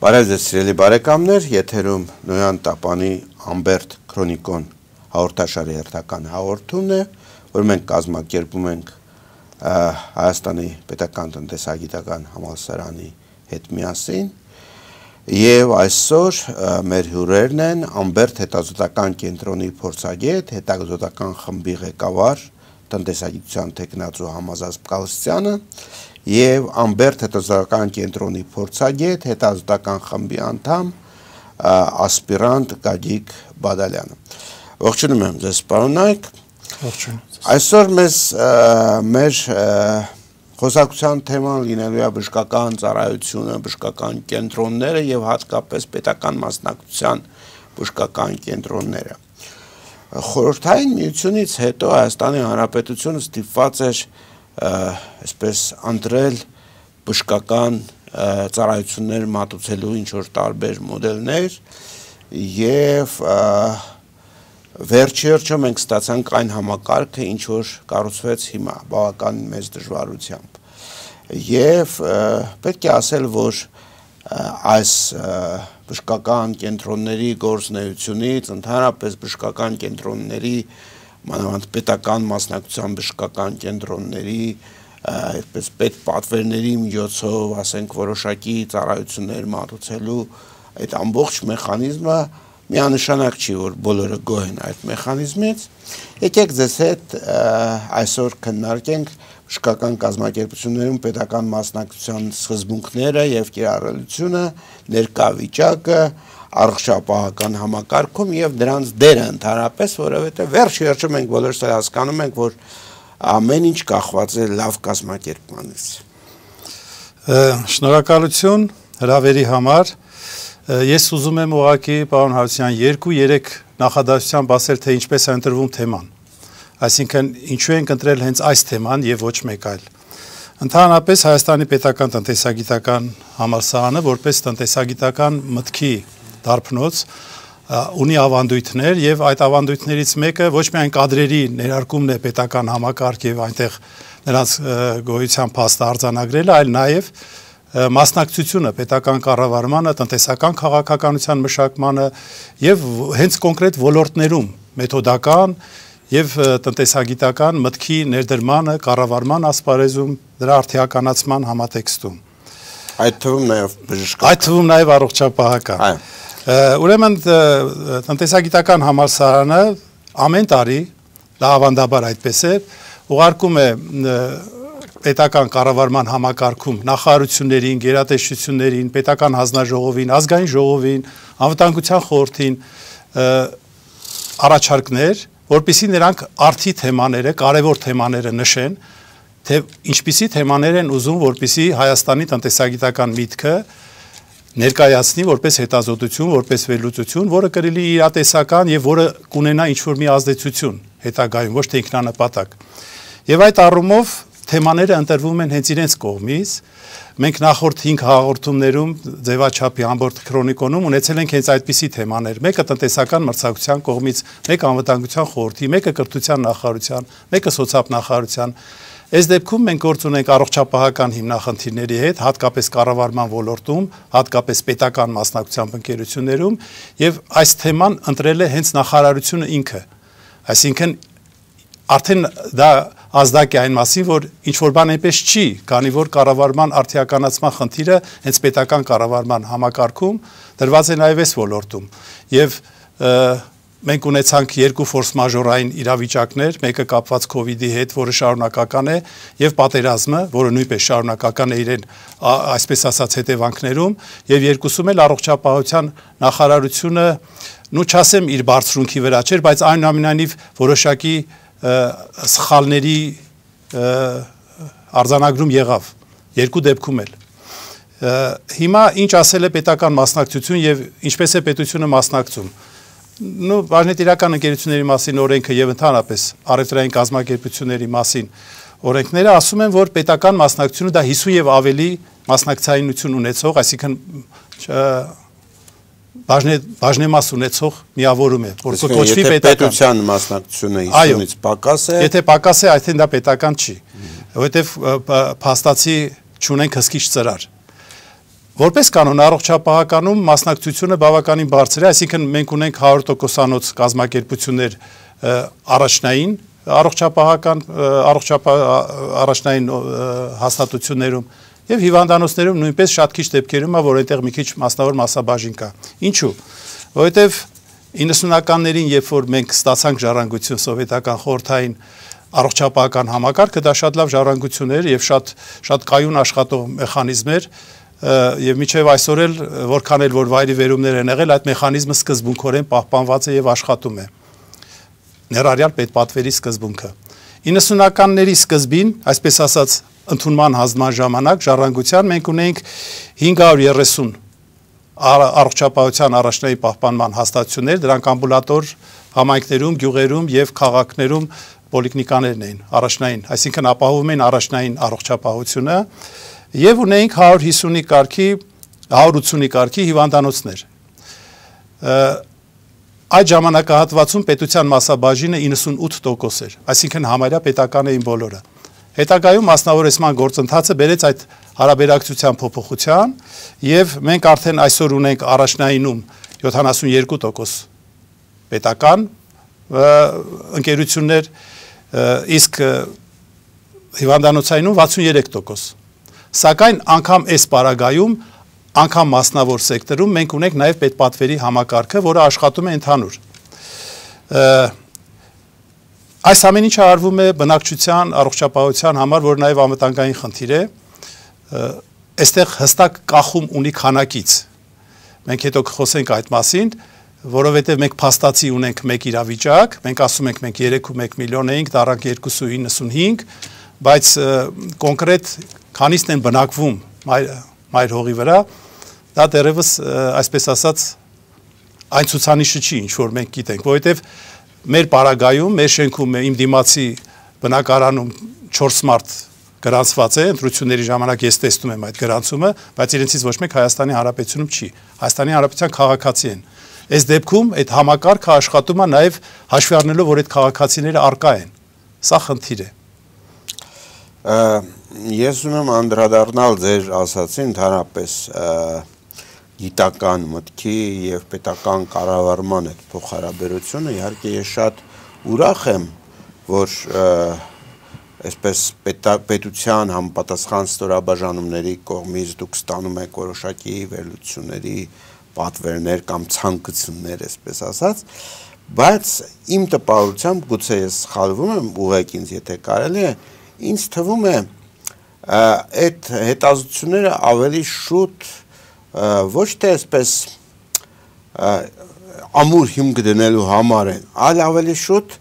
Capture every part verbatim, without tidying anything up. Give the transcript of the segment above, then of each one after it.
Բարև ձեզ սիրելի բարեկամներ, եթերում Նոյան Տապանի Ամբերտ Քրոնիկոն հաղորդաշարի հերթական հաղորդումն է, որ մենք կազմակերպում ենք Հայաստանի Պետական տնտեսագիտական համալսարանի հետ միասին, եւ այսօր մեր հյուրերն են Ամբերտ հետազոտական կենտրոնի փորձագետ, հետազոտական խմբի ղեկավար, տնտեսագիտության թեկնածու Համազած Պկալստյանը եւ Ամբերտ հետազոտական կենտրոնի փորձագետ, հետազոտական խմբի անդամ, ասպիրանտ Գագիկ Բադալյանը։ Ողջունում եմ ձեզ, պարոնայք։ Ողջույն։ Այսօր մեզ մեր խոսակցության թեման լինելու է բժշկական ծառայությունը, բժշկական կենտրոնները եւ հատկապես պետական մասնակցության բժշկական կենտրոնները։ Խորհրդային միությունից հետո Հայաստանի Հանրապետությունը ստիպված էր այսպես ընտրել բժշկական ծառայություններ մատուցելու ինչ որ տարբեր մոդելներ եւ վերջիրջը մենք ստացանք այն համակարգը, ինչ որ կառուցվեց հիմա բավականին մեծ դժվարությամբ եւ պետք է ասել, որ այս բժշկական կենտրոնների գործունեությունից, ընդհանրապես բժշկական կենտրոնների, մանավանդ պետական մասնակցության բժշկական կենտրոնների, այդպես պետ պատվերների միջոցով, ասենք, որոշակի ծառայություններ մատուցելու այդ ամբողջ մեխանիզմը միանշանակ չի, որ բոլորը գոհ են այդ մեխանիզմից։ Եկեք ձեզ հետ այսօր քննարկենք բժշկական կազմակերպություններում պետական մասնակցության սկզբունքները եւ կիրառելիությունը, ներկա վիճակը, առողջապահական համակարգում եւ դրանց դերը ընդհանրապես, որովհետեւ վերջիրջը մենք բոլորս հասկանում ենք, որ ամեն ինչ կախված է լավ կազմակերպմանից։ Շնորհակալություն հրավերի համար։ Ես ուզում եմ ուղղակի պարոն Հարությունյան երկու-երեք նախադասությամբ ասել, թե ինչպես է ընտրվում թեման։ Այսինքն ինչու ենք ընտրել հենց այս թեման եւ ոչ մեկ այլ։ Ընդհանրապես Հայաստանի Պետական տնտեսագիտական համալսարանը որպես տնտեսագիտական մտքի դարբնոց ունի ավանդույթներ եւ այդ ավանդույթներից մեկը ոչ միայն կադրերի ներարկումն է պետական համակարգ եւ այնտեղ նրանց գոյության փաստը արձանագրելը, այլ նաեւ մասնակցությունը պետական կառավարմանը, տնտեսական քաղաքականության մշակմանը եւ հենց կոնկրետ ոլորտներում մեթոդական եւ տնտեսագիտական մտքի ներդրմանը, կառավարման ասպարեզում, դրա արդիականացման համատեքստում։ Այդ թվում նաեւ բժշկական։ Այդ թվում նաեւ առողջապահական։ Ուրեմն տնտեսագիտական համալսարանը ամեն տարի, դա ավանդաբար այդպես է, ուղարկում է պետական կառավարման համակարգում նախարարություններին, գերատեսչություններին, պետական հանձնաժողովին, ազգային ժողովին, անվտանգության խորհրդին առաջարկներ, որպեսզի նրանք արդի թեմաները, կարևոր թեմաները նշեն, թե ինչպիսի թեմաներ են ուզում, որպեսզի Հայաստանի տնտեսագիտական միտքը ներկայացնի որպես հետազոտություն, որպես վերլուծություն, որը կլինի իրատեսական եւ որը կունենա ինչ-որ մի ազդեցություն հետագայում, ոչ թե ինքնանպատակ։ Եվ այդ առումով թեմաները ընտրվում են հենց իրենց կողմից։ Մենք նախորդ հինգ հաղորդումներում ձևաչափի Ամբերտ Քրոնիկոնում ունեցել ենք հենց այդպիսի թեմաներ։ Մեկը տնտեսական մրցակցության կողմից, մեկը անվտանգության խորհրդի, մեկը կրթության նախարարության, մեկը սոցիալ-նախարարության։ Այս դեպքում մենք գործ ունենք առողջապահական հիմնախնդիրների հետ, հատկապես կառավարման ոլորտում, հատկապես պետական մասնակցությամբ ընկերություններում, եւ այս թեման ընտրել է հենց նախարարությունը ինքը։ Այսինքն արդեն դա ազդակ է այն մասին, որ ինչ-որ բան այնպես չի, քանի որ կառավարման արդիականացման խնդիրը հենց պետական կառավարման համակարգում դրված է նաև այս ոլորտում։ Եվ մենք ունեցանք երկու ֆորս մաժորային իրավիճակներ, մեկը կապված քովիդի հետ, որը շարունակական է, եւ պատերազմը, որը նույնպես շարունակական է իրեն այսպես ասած հետևանքներում, եւ երկուսում էլ առողջապահության նախարարությունը, նու չասեմ իր բարձրունքի վրա չէր, բայց այնուամենայնիվ որոշակի սխալների արձանագրում եղավ երկու դեպքում էլ։ Հիմա ինչ ասել է պետական մասնակցություն եւ ինչպես է պետությունը մասնակցում։ Նու բաժնետիրական ընկերությունների մասին օրենքը եւ ընդհանրապես առևտրային կազմակերպությունների մասին օրենքները ասում են, որ պետական մասնակցությունը դա հիսուն եւ ավելի մասնակցայնություն ունեցող, այսինքն բաժնեմաս ունեցող միավորում է, որ կոչվի պետական։ Պետության մասնակցությունը հիսունից պակաս է։ Եթե պակաս է, այդտեղ դա պետական չի, որովհետև փաստացի չունենք հսկիչ ծրար։ Որպես կանոն առողջապահականում մասնակցությունը բավականին բարձր է, այսինքն մենք ունենք հարյուր տոկոսանոց կազմակերպություններ առաջնային առողջապահական առաջնային հաստատություններում եւ հիվանդանոցներում նույնպես շատ քիչ դեպքերում է, որ այնտեղ մի քիչ մասնավոր մասաբաժին կա։ Ինչու՞։ Որովհետեւ իննսունականներին, երբ որ մենք ստացանք ժառանգություն սովետական խորհրդային առողջապահական համակարգը, դա շատ լավ ժառանգություն էր եւ շատ շատ կայուն աշխատող մեխանիզմ էր եւ միջև այսօր էլ որքան էլ որ վայրի վերումներ են եղել, այդ մեխանիզմը սկզբունքորեն պահպանված է եւ աշխատում է։ Ներառյալ պետպատվերի սկզբունքը։ իննսունականների սկզբին, այսպես ասած, ընդունման հանձնման ժամանակ ժառանգության մենք ունենք հինգ հարյուր երեսուն առողջապահության առաջնային պահպանման հաստատություններ, դրանք ամբուլատոր համայնքներում, գյուղերում եւ քաղաքներում պոլիկլինիկաներն էին, առաջնային, այսինքն ապահովում են առաջնային առողջապահությունը եւ ունենք հարյուր հիսունի կարգի, հարյուր ութսունի կարգի հիվանդանոցներ։ Այդ ժամանակահատվածում պետության մասաբաժինը իննսունութ տոկոս էր, այսինքն համարյա պետական էին բոլորը։ Հետագայում մասնավորեցման գործընթացը բերեց այդ հարաբերակցության փոփոխության եւ մենք արդեն այսօր ունենք առաջնայինում յոթանասունյերկու տոկոս պետական ընկերություններ, իսկ հիվանդանոցայինում վաթսունյերեք տոկոս։ Սակայն անգամ այս պարագայում, անգամ մասնավոր սեկտորում մենք ունենք նաեւ պետպատվերի համակարգը, որը աշխատում է ընդհանուր։ Այս ամեն ինչը արվում է բնակչության առողջապահության համար, որ նաև անվտանգային խնդիր է, այստեղ հստակ կախում ունի քանակից։ Մենք հետո կխոսենք այդ մասին, որովհետև մենք փաստացի ունենք մեկ իրավիճակ, մենք ասում ենք մենք երեք ու մեկ միլիոն էինք, դառանք երկու իննսունհինգ, բայց կոնկրետ քանիսն են բնակվում մայր հողի վրա, դա դեռևս այսպես ասած այն ցուցանիշը չի, ինչ որ մենք գիտենք, որովհետև մեր պարագայում, մեր շենքում իմ դիմացի բնակարանում չորս մարդ գրանցված է, ընտրությունների ժամանակ ես տեսնում եմ այդ գրանցումը, բայց իրենցից ոչ մեկ Հայաստանի Հանրապետությունում չի։ Հայաստանի Հանրապետության քաղաքացի են։ Այս դեպքում այդ համակարգը աշխատում է նաև հաշվի առնելով, որ այդ քաղաքացիները արկա են։ Սա խնդիր է։ Ես ուզում եմ անդրադառնալ ձեր ասացին ընդհանրապես գիտական մտքի եւ պետական կառավարման այդ փոխհարաբերությունը, իհարկե ես շատ ուրախ եմ, որ այսպես պետության համապատասխան ստորաբաժանումների կողմից դուք ստանում եք որոշակի վերլուծությունների պատվերներ կամ ցանկություններ, այսպես ասած, բայց իմ տպավորությամբ գուցե ես սխալվում եմ, ուղղեք ինձ, եթե կարելի է, ինձ թվում է այդ հետազոտությունները ավելի շուտ ոչ թե այսպես ամուր հիմք դնելու համար են, այլ ավելի շուտ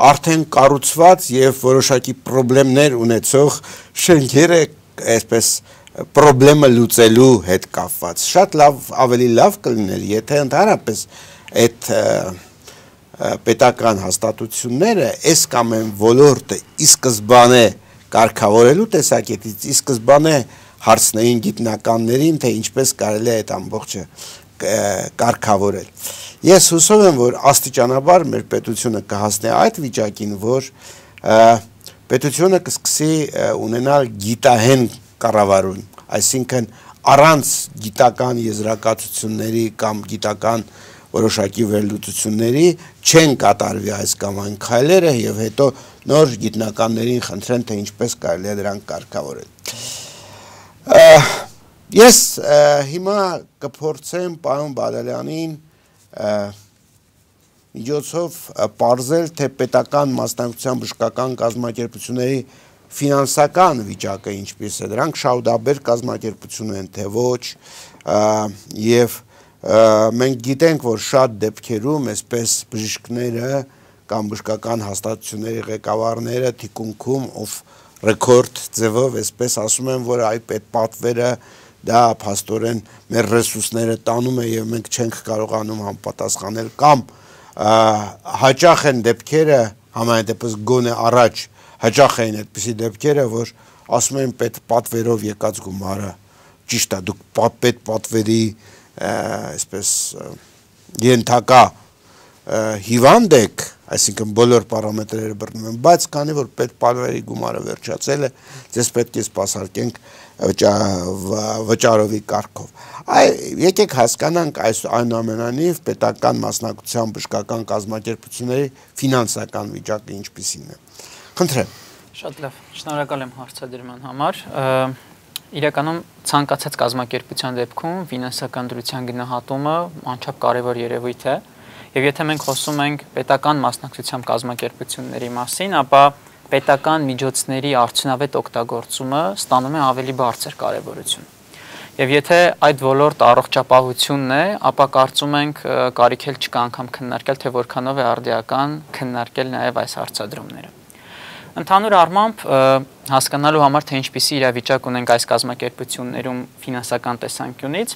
արդեն կառուցված եւ որոշակի խնդիրներ ունեցող շենքերը այսպես խնդրեմը լուծելու հետ կապված։ Շատ լավ, ավելի լավ կլիներ, եթե ընդհանրապես այդ պետական հաստատությունները այս կամ այն ոլորտը ի սկզբանե կարգավորելու տեսակետից ի սկզբանե հարցնեին գիտնականներին, թե ինչպես կարելի է այդ ամբողջը կարգավորել։ Ես հուսով եմ, որ աստիճանաբար մեր պետությունը կհասնի այդ վիճակին, որ պետությունը կսկսի ունենալ գիտահեն կառավարում, այսինքն առանց գիտական եզրակացությունների կամ գիտական որոշակի վերլուծությունների չեն կատարվի այս կամ այն քայլերը եւ հետո նոր գիտնականներին խնդրեն, թե ինչպես կարելի է դրանք կարգավորել։ Ես հիմա կփորձեմ պարոն Բադալյանին միջոցով պարզել, թե պետական մասնակցության բժշկական կազմակերպությունների ֆինանսական վիճակը ինչպես է, դրանք շահութաբեր կազմակերպություն են, թե ոչ, եւ մենք գիտենք, որ շատ դեպքերում այսպես բժիշկները կամ բժշկական հաստատությունների ղեկավարները թիկունքում ով ռեկորդ ձևով այսպես ասում են, որ այ պետպատվերը դա փաստորեն մեր ռեսուրսները տանում է եւ մենք չենք կարողանում համապատասխանել կամ հաճախ են դեպքերը համայն դեպս գոնե առաջ հաճախ են այդպիսի դեպքերը, որ ասում են պետպատվերով եկած գումարը ճիշտ է, դուք պետպատվերի այսպես ենթակա հիվանդ եք, այսինքն բոլոր պարամետրերը բռնում են, բայց քանի որ պետպալվերի գումարը վերջացել է, ձեզ պետք է սպասարկենք վճարովի կարգով։ Եկեք հասկանանք այս այնուամենայնիվ պետական մասնակցության բժշկական կազմակերպությունների ֆինանսական վիճակը ինչպիսին է։ Խնդրեմ։ Շատ լավ, շնորհակալ եմ հարցադրման համար։ Իրականում ցանկացած կազմակերպության դեպքում ֆինանսական դրության գնահատումը անչափ կարևոր երևույթ է, եւ եթե մենք խոսում ենք պետական մասնակցությամբ կազմակերպությունների մասին, ապա պետական միջոցների արդյունավետ օգտագործումը ստանում է ավելի բարձր կարևորություն։ Եվ եթե այդ ոլորտ առողջապահությունն է, ապա կարծում ենք կարիք էլ չկա անգամ քննարկել, թե որքանով է արդիական քննարկել նաև այս հարցադրումները։ Ընդհանուր առմամբ հասկանալու համար, թե ինչպիսի իրավիճակ ունենք այս կազմակերպություններում ֆինանսական տեսանկյունից,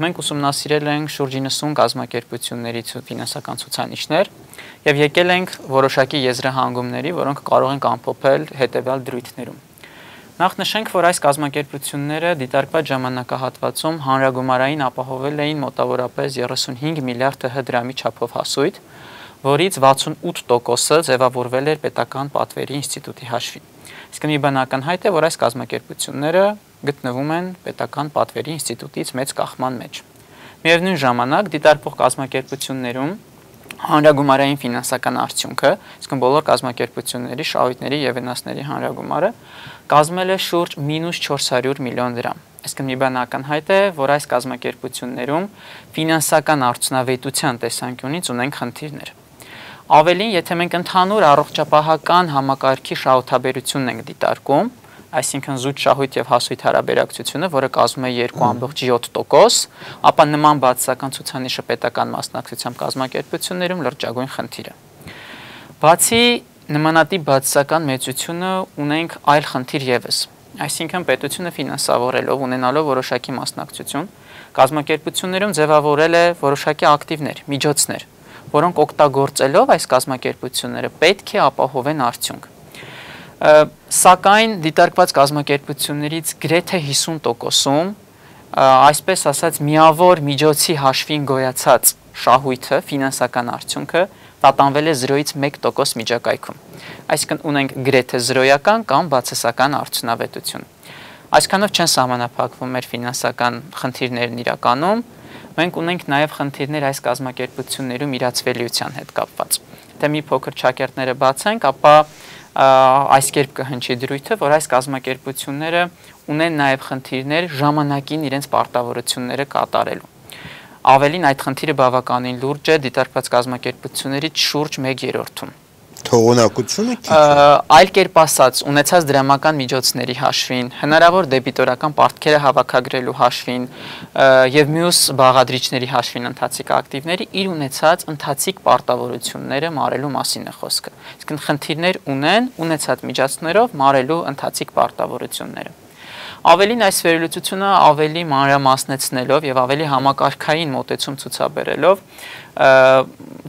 մենք ուսումնասիրել ենք շուրջ իննսուն կազմակերպությունների ֆինանսական ցուցանիշներ եւ եկել ենք որոշակի եզրահանգումների, որոնք կարող են ամփոփել հետեւյալ դրույթներում։ Նախ նշենք, որ այս կազմակերպությունները դիտարկված ժամանակահատվածում հանրագումարային ապահովել էին մոտավորապես երեսունհինգ միլիարդ ՀՀ դրամի չափով հասույթ, որից վաթսունութ տոկոսը ձևավորվել էր պետական պատվերի ինստիտուտի հաշվին։ Իսկ մի բան ակնհայտ է, որ այս կազմակերպությունները գտնվում են պետական պատվերի ինստիտուտից մեծ կախման մեջ։ Միևնույն ժամանակ դիտարկվող կազմակերպություններում հանրագումարային ֆինանսական արդյունքը, իսկ բոլոր կազմակերպությունների, շահույթների եւ վնասների հանրագումարը կազմել է շուրջ մինուս չորս հարյուր միլիոն դրամ։ Իսկ մի բան ակնհայտ է, որ այս կազմակերպություններում ֆինանսական արդյունավետության տեսանկյունից ունենք խնդիրներ։ Ավելին, եթե մենք ընդհանուր առողջապահական համակարգի շահութաբերությունն ենք դիտարկում, այսինքն զուտ շահույթ եւ հասույթ հարաբերակցությունը, որը կազմում է երկու ամբողջ յոթ տոկոս, ապա նման բացասական ցուցանիշը պետական մասնակցությամբ կազմակերպություններում լրջագույն խնդիր է։ Բացի նմանատիպ բացասական մեծությունը ունենք այլ խնդիր եւս, այսինքն պետությունը ֆինանսավորելով, ունենալով որոշակի մասնակցություն, կազմակերպություններում ձևավորել է որոշակի ակտիվներ, միջոցներ, որոնք օգտագործելով այս կազմակերպությունները պետք է ապահովեն արդյունք։ Սակայն դիտարկված կազմակերպություններից գրեթե հիսուն տոկոսում, այսպես ասած, միավոր միջոցի հաշվին գոյացած շահույթը, ֆինանսական արդյունքը տատանվել է զրոյից մեկ տոկոս միջակայքում։ Այսինքն ունենք գրեթե զրոյական կամ բացասական արդյունավետություն։ Այսքանով չեն սահմանափակվում մեր ֆինանսական խնդիրներն իրականում, մենք ունենք նաև խնդիրներ այս կազմակերպություններում իրացվելիության հետ կապված։ Եթե մի փոքր չակերտները բացենք, ապա այս կերպ կհնչի դրույթը, որ այս կազմակերպությունները ունեն նաև խնդիրներ ժամանակին իրենց պարտավորությունները կատարելու։ Ավելին, այդ խնդիրը բավականին լուրջ է դիտարկված կազմակերպություններից շուրջ մեկ երրորդում։ Թողունակությունը քիչ է։ Այլ կերպ ասած, ունեցած դրամական միջոցների հաշվին, հնարավոր դեբիտորական պարտքերը հավաքագրելու հաշվին եւ մյուս բաղադրիչների հաշվին ընթացիկ ակտիվների իր ունեցած ընթացիկ պարտավորությունները մարելու մասին է խոսքը։ Իսկ խնդիրներ ունեն ունեցած միջոցներով մարելու ընթացիկ պարտավորությունները։ Ավելին, այս վերլուծությունը ավելի մանրամասնեցնելով եւ ավելի համակարգային մոտեցում ցուցաբերելով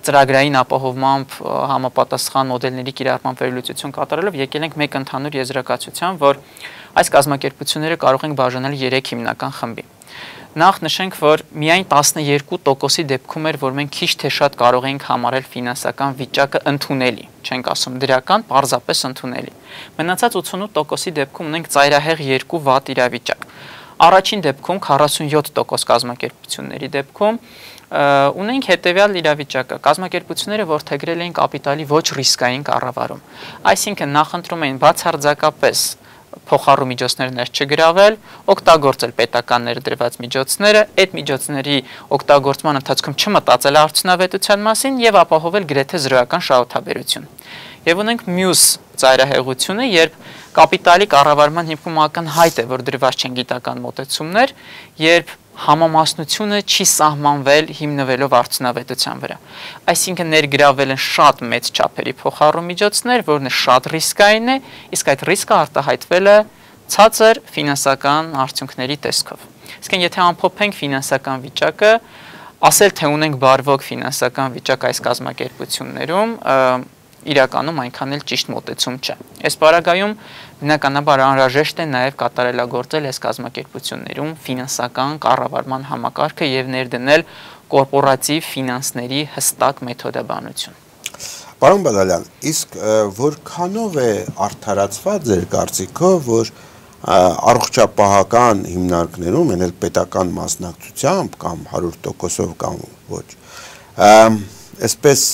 ծրագրային ապահովմամբ համապատասխան մոդելների կիրառմամբ վերլուծություն կատարելով եկել ենք մեկ ընդհանուր եզրակացության, որ այս կազմակերպությունները կարող են բաժանել երեք հիմնական խմբի։ Նախ նշենք, որ միայն տասնյոթ տոկոսի դեպքում էր, որ մենք քիչ թե շատ կարող էինք համարել ֆինանսական վիճակը ընդունելի, չենք ասում դրական, պարզապես ընդունելի։ Մնացած ութսունութ տոկոսի դեպքում ունենք ծայրահեղ երկու վատ իրավիճակ։ Առաջին դեպքում քառասունյոթ տոկոս կազմակերպությունների դեպքում ունենք հետևյալ իրավիճակը. կազմակերպությունները որդեգրել էին կապիտալի ոչ ռիսկային կառավարում, այսինքն նախընտրում էին բացարձակապես փոխառու միջոցներ ներս չգրավել, օգտագործել պետական ներդրված միջոցները, այդ միջոցների օգտագործման ընթացքում չմտածել արդյունավետության մասին եւ ապահովել գրեթե զրոյական շահութաբերություն։ Եվ ունենք մյուս ծայրահեղությունը, երբ կապիտալի կառավարման հիմքում ակնհայտ է, որ դրված չեն գիտական մոտեցումներ, երբ համամասնությունը չի սահմանվել հիմնվելով արդյունավետության վրա։ Այսինքն ներգրավել են շատ մեծ չափերի փոխառու միջոցներ, որն է շատ ռիսկային է, իսկ այդ ռիսկը արտահայտվել է ցածր ֆինանսական արդյունքների տեսքով։ Իսկ եթե ամփոփենք ֆինանսական վիճակը, ասել թե ունենք բարվոք ֆինանսական վիճակ այս կազմակերպություններում, իրականում այնքան էլ ճիշտ մոտեցում չէ։ Այս պարագայում բնականաբար անհրաժեշտ է նաև կատարելագործել այս կազմակերպություններում ֆինանսական կառավարման համակարգը եւ ներդնել կորպորատիվ ֆինանսների հստակ մեթոդաբանություն։ Պարոն Բադալյան, իսկ որքանով է արդարացված ձեր կարծիքով, որ առողջապահական հիմնարկներում, այն էլ պետական մասնակցությամբ կամ հարյուր տոկոսով կամ ոչ, այսպես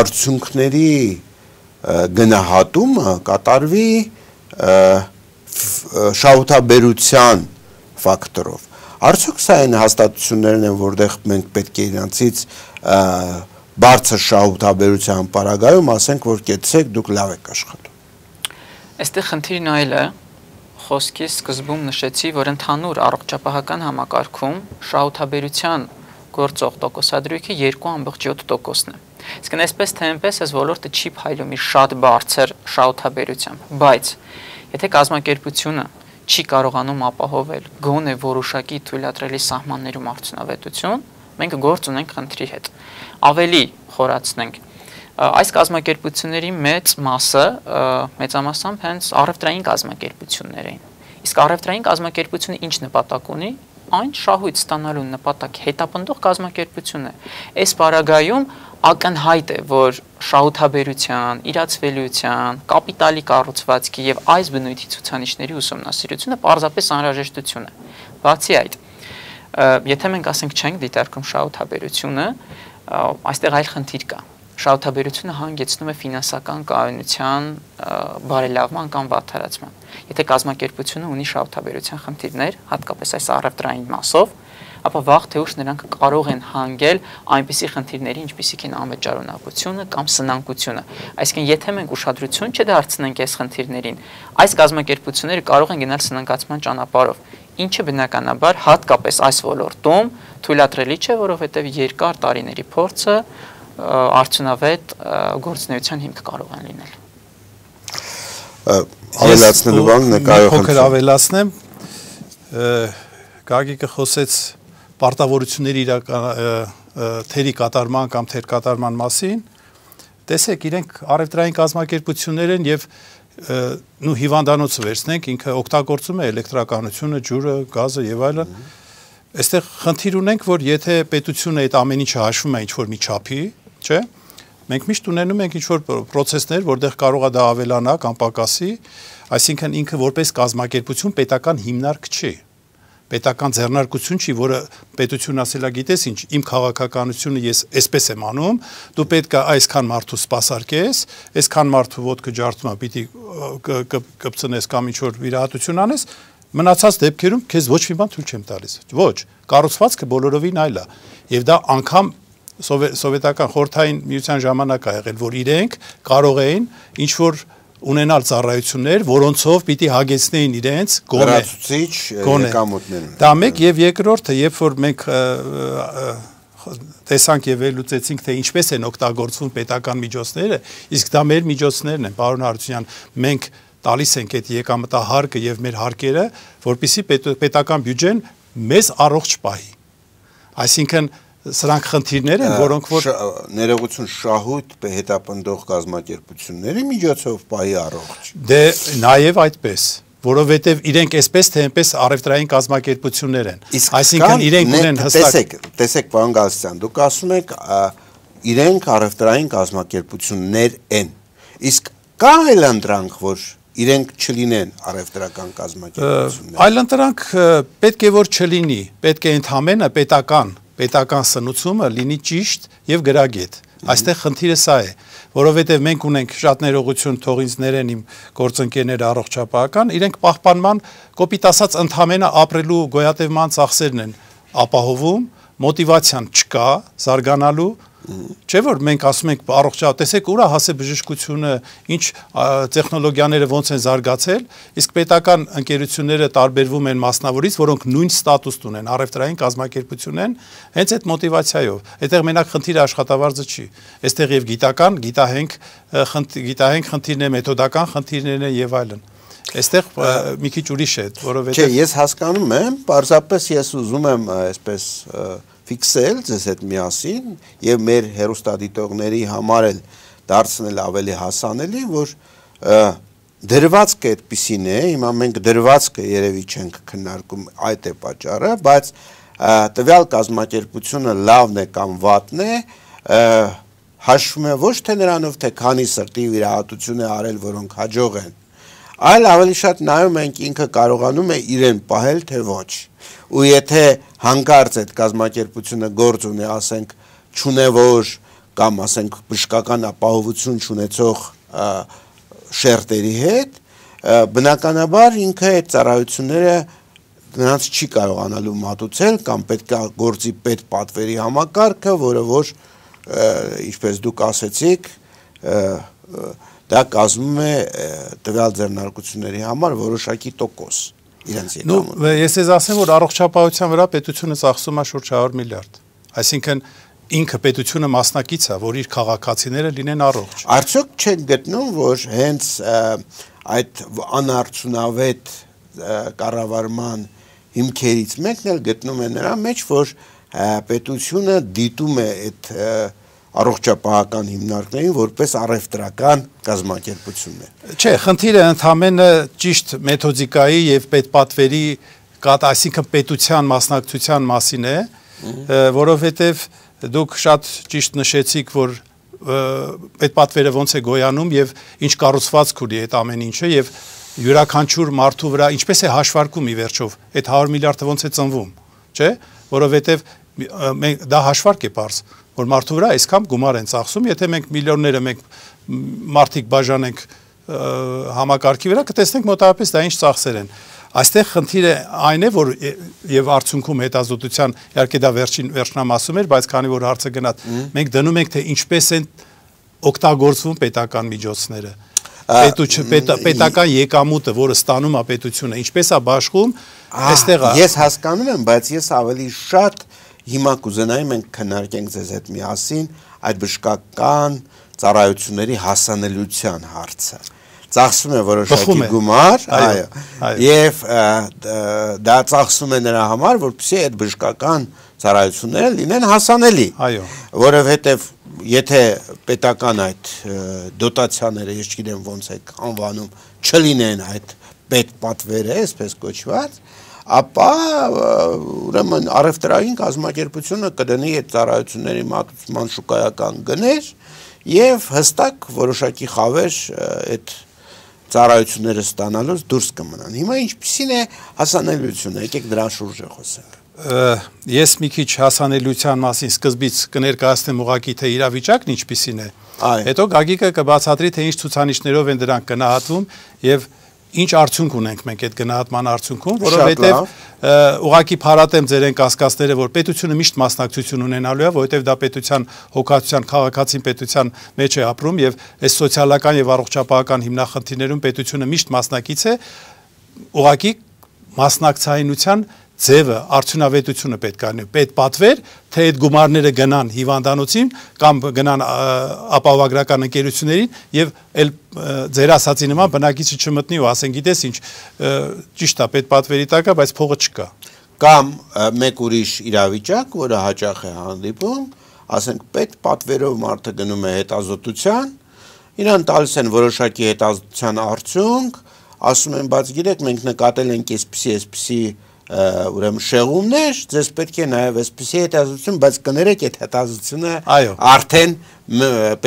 արդյունքների գնահատումը կատարվի շահութաբերության ֆակտորով։ Արդյոք սա այն հաստատություններն են, որտեղ մենք պետք է իրանցից բարձր շահութաբերության պարագայում ասենք, որ կեցեք, դուք լավ եք աշխատում։ Այստեղ խնդիրն այլ է, խոսքի սկզբում նշեցի, որ ընդհանուր առողջապահական համակարգում շահութաբերության գործող տոկոսադրույքը երկու ամբողջ յոթ տոկոսն է։ Իսկ այսպես թե այնպես այս ոլորտը չի փայլում իր շատ բարձր շահութաբերությամբ, բայց եթե կազմակերպությունը չի կարողանում ապահովել գոնե որոշակի թույլատրելի սահմաններում արդյունավետություն, մենք գործ ունենք խնդրի հետ։ Ավելի խորացնենք, այս կազմակերպությունների մեծ մասը մեծամասամբ հենց առևտրային կազմակերպություններ էին։ Իսկ առևտրային կազմակերպությունը ինչ նպատակ ունի, այն շահույթ ստանալու նպատակ հետապնդող կազմակերպություն է։ Այս պարագայում ակնհայտ է, որ շահութաբերության, իրացվելիության, կապիտալի կառուցվածքի եւ այս բնույթի ցուցանիշների ուսումնասիրությունը պարզապես անհրաժեշտություն է։ Բացի այդ, եթե մենք ասենք չենք դիտարկում շահութաբերությունը, այստեղ այլ խնդիր կա։ Շահութաբերությունը հանգեցնում է ֆինանսական կայունության բարելավման կամ վատթարացման։ Եթե կազմակերպությունը ունի շահութաբերության խնդիրներ, հատկապես այս առևտրային մասով, ապա վաղ թե ուշ նրանք կարող են հանգել այնպիսի խնդիրների, ինչպիսիք են անվճարունակությունը կամ սնանկությունը։ Այսինքն, եթե մենք ուշադրություն չդարձնենք այս խնդիրներին, այս կազմակերպությունները կարող են գնալ սնանկացման ճանապարհով, ինչը բնականաբար հատկապես այս ոլորտում թույլատրելի չէ, որովհետև երկար տարիների փորձը արդյունավետ գործունեության հիմք կարող են լինել։ Ավելացնելու բան նկարող փոքր ավելացնեմ, Գագիկը խոսեց պարտավորությունների թերի կատարման կամ թեր կատարման մասին, տեսեք, իրենք առևտրային կազմակերպություններ են եւ նու հիվանդանոցը վերցնենք, ինքը օգտագործում է էլեկտրականությունը, ջուրը, գազը եւ այլն։ Այստեղ խնդիր ունենք, որ եթե պետությունը այդ ամեն ինչը հաշվում է ինչ-որ մի չափի, չէ՞, մենք միշտ ունենում ենք ինչ-որ պրոցեսներ, որտեղ կարող է դա ավելանա կամ պակասի, այսինքն ինքը որպես կազմակերպություն պետական հիմնարկ չի։ Պետական ձեռնարկություն չի, որը պետությունը ասելա գիտես ինչ, իմ քաղաքականությունը ես այսպես եմ անում, դու պետք է այսքան մարդու սպասարկես, այսքան մարդու ոտքը ջարդում է, պիտի կպցնես կամ ինչ-որ վիրահատություն անես, մնացած դեպքերում քեզ ոչ մի բան թույլ չեմ տալիս։ Ոչ, կառուցվածքը բոլորովին այլ է։ Եվ դա անգամ սովետական խորհրդային միության ժամանակ է եղել, որ իրենք կարող էին ինչ-որ ունենալ ծառայություններ, որոնցով պիտի հագեցնեին իրենց գոնե եկամուտներում։ Դա մեկ եւ երկրորդը, երբ որ մենք տեսանք եւ վերլուծեցինք, թե ինչպես են օգտագործվում պետական միջոցները, իսկ դա մեր միջոցներն են, պարոն Հարությունյան, մենք տալիս ենք այդ եկամտահարկը եւ մեր հարկերը, որպեսզի պետական բյուջեն մեզ առողջ պահի։ Այսինքն սրանք խնդիրներ են, որոնք որ ներողություն շահույթ հետապնդող կազմակերպությունների միջոցով պահի առողջ։ Դե նաեւ այդպես, որովհետեւ իրենք այսպես թե այնպես առևտրային կազմակերպություններ են։ Այսինքն իրենք ունեն հստակ։ Տեսեք, տեսեք, պարոն Գալստյան, դուք ասում եք իրենք առևտրային կազմակերպություններ են։ Իսկ կա այլ ընտրանք, որ իրենք չլինեն առևտրական կազմակերպություններ։ Այլ ընտրանք պետք է որ չլինի, պետք է ընդհանրապես պետական պետական սնուցումը լինի ճիշտ եւ գրագետ։ Այստեղ խնդիրը սա է, որովհետեւ մենք ունենք շատ ներողություն թող ինձ ներեն իմ գործընկերները առողջապահական, իրենք պահպանման կոպիտ ասած ընդհանրապես ապրելու գոյատևման ծախսերն են ապահովում, մոտիվացիան չկա զարգանալու, չէ՞ որ մենք ասում ենք առողջապահ, տեսեք ուր է հասել բժշկությունը, ինչ տեխնոլոգիաները ոնց են զարգացել, իսկ պետական ընկերությունները տարբերվում են մասնավորից, որոնք նույն ստատուս ունեն, առևտրային կազմակերպություն են, հենց այդ մոտիվացիայով։ Այդտեղ մենակ խնդիրը աշխատավարձը չի։ Այստեղ եւ գիտական, գիտահենք, գիտահենք խնդիրներ, մեթոդական խնդիրներ են եւ այլն։ Այստեղ մի քիչ ուրիշ է, որովհետեւ Չէ, ես հասկանում եմ, պարզապես ես ուզում եմ այսպես ֆիքսել ձեզ հետ միասին եւ մեր հերոստադիտողների համար էլ դարձնել ավելի հասանելի, որ դրվածքը այդպիսին է, հիմա մենք դրվածքը երևի չենք քննարկում, այդ է պատճառը, բայց տվյալ կազմակերպությունը լավն է կամ վատն է, հաշվում է ոչ թե նրանով, թե քանի սրտի վիրահատություն է արել, որոնք հաջող են, այլ ավելի շատ նայում ենք ինքը կարողանում է իրեն պահել, թե ոչ։ Ու եթե հանկարծ այդ կազմակերպությունը գործ ունի, ասենք, չունևոր կամ ասենք բժշկական ապահովություն չունեցող շերտերի հետ, բնականաբար ինքը այդ ծառայությունները նրանց չի կարողանալու մատուցել կամ պետք է գործի պետպատվերի համակարգը, որը որ ինչպես դուք ասեցիք, դա կազմում է տվյալ ձեռնարկությունների համար որոշակի տոկոս իրենց եկամուտը։ Ես ես ասեմ, որ առողջապահության վրա պետությունը ծախսում է շուրջ հարյուր միլիարդ, այսինքն ինքը պետությունը մասնակից է, որ իր քաղաքացիները լինեն առողջ։ Արդյոք չեք գտնում, որ հենց այդ անարդյունավետ կառավարման հիմքերից մեկն էլ գտնում է նրա մեջ, որ պետությունը դիտում է այդ առողջապահական հիմնարկներին որպես առևտրական կազմակերպություններ։ Չէ, խնդիրը ընդհանրապես ճիշտ մեթոդիկայի եւ պետպատվերի, այսինքն պետության մասնակցության մասին է, որովհետեւ դուք շատ ճիշտ նշեցիք, որ պետպատվերը ոնց է գոյանում եւ ինչ կառուցվածք ունի այդ ամեն ինչը եւ յուրաքանչյուր մարդու վրա ինչպես է հաշվարկում ի վերջով այդ հարյուր միլիարդը ոնց է ծնվում, չէ, որովհետեւ դա հաշվարկ է པարզ, որ մարդու վրա այսքան գումար են ծախսում, եթե մենք միլիոնները մենք մարդիկ բաժանենք համակարգի վրա, կտեսնենք մոտավորապես դա ինչ ծախսեր են։ Այստեղ խնդիրը այն է, որ եւ արդյունքում հետազոտության, իհարկե դա վերջին վերջնամասում էր, բայց քանի որ հարցը գնաց, մենք դնում ենք, թե ինչպես են օգտագործվում պետական միջոցները։ Պետական եկամուտը, որը ստանում է պետությունը, ինչպես է բաշխում, այստեղ է։ Ես հասկանում եմ, բայց ես ավելի շատ հիմա կուզենայի մենք քննարկենք ձեզ հետ միասին այդ բժշկական ծառայությունների հասանելիության հարցը։ Ծախսում է որոշակի գումար, այո, եւ դա ծախսում է նրա համար, որպեսզի այդ բժշկական ծառայությունները լինեն հասանելի, որովհետեւ եթե պետական այդ դոտացիաները, ես չգիտեմ ոնց է անվանում, չլինեն այդ պետպատվերը, այսպես կոչված, ապա ուրեմն առևտրային կազմակերպությունը կդնի այդ ծառայությունների մատուցման շուկայական գներ եւ հստակ որոշակի խավեր այդ ծառայությունները ստանալուց դուրս կմնան։ Հիմա ինչպիսին է հասանելիությունը, եկեք դրան շուրջ խոսենք։ Ես մի քիչ հասանելիության մասին սկզբից կներկայացնեմ ուղղակի թե իրավիճակն ինչպիսին է։ Հետո Գագիկը կբացատրի թե ինչ ցուցանիշներով են դրանք գնահատվում եւ ինչ արդյունք ունենք մենք այդ գնահատման արդյունքում, որովհետև ուղղակի փառատեմ ձեր են կասկածները, որ պետությունը միշտ մասնակցություն ունենալու է, որովհետև դա պետության հոգացության, քաղաքացին պետության մեջ է ապրում եւ այս սոցիալական եւ առողջապահական հիմնախնդիրներում պետությունը միշտ մասնակից է, ուղղակի մասնակցայինության ձևը, արդյունավետությունը պետք է լինի, պետպատվեր, թե այդ գումարները գնան հիվանդանոցին կամ գնան ապահովագրական ընկերություններին եւ այլ ձեր ասացի նման բնակիչը չմտնի ու ասեն գիտես ինչ ճիշտ է պետպատվերի տակ է, բայց փողը չկա։ Կամ մեկ ուրիշ իրավիճակ, որը հաճախ է հանդիպում, ասենք պետպատվերով մարդը գնում է հետազոտության, իրան տալիս են որոշակի հետազոտության արդյունք, ասում են, բայց գիտեք, մենք նկատել ենք այսպիսի, այսպիսի ուրեմն շեղումներ, ձեզ պետք է նաև այսպիսի հետազոտություն, բայց կներեք այդ հետազոտությունը արդեն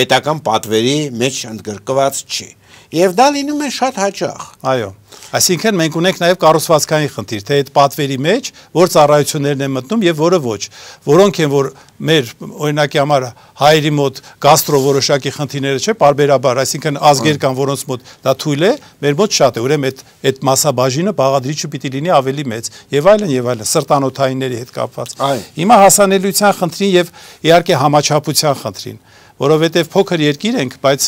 պետական պատվերի մեջ ընդգրկված չի։ Եվ դա լինում է շատ հաճախ։ Այո։ Այսինքն մենք ունենք նաև կառուցվածքային խնդիր, թե այդ պատվերի մեջ որ ծառայություններն են մտնում եւ որը ոչ, որոնք են որ մեր օրինակի համար հայերի մոտ գաստրո որոշակի խնդիրները չէ, բարբերաբար, այսինքն ազգեր կան, որոնց մոտ դա թույլ է, մեր մոտ շատ է, ուրեմն այդ այդ մասաբաժինը բաղադրիչը պիտի լինի ավելի մեծ եւ այլն եւ այլն, սրտանոթայինների հետ կապված։ Հիմա հասանելիության խնդրին եւ իհարկե համաչափության խնդրին, որովհետև փոքր երկիր ենք, բայց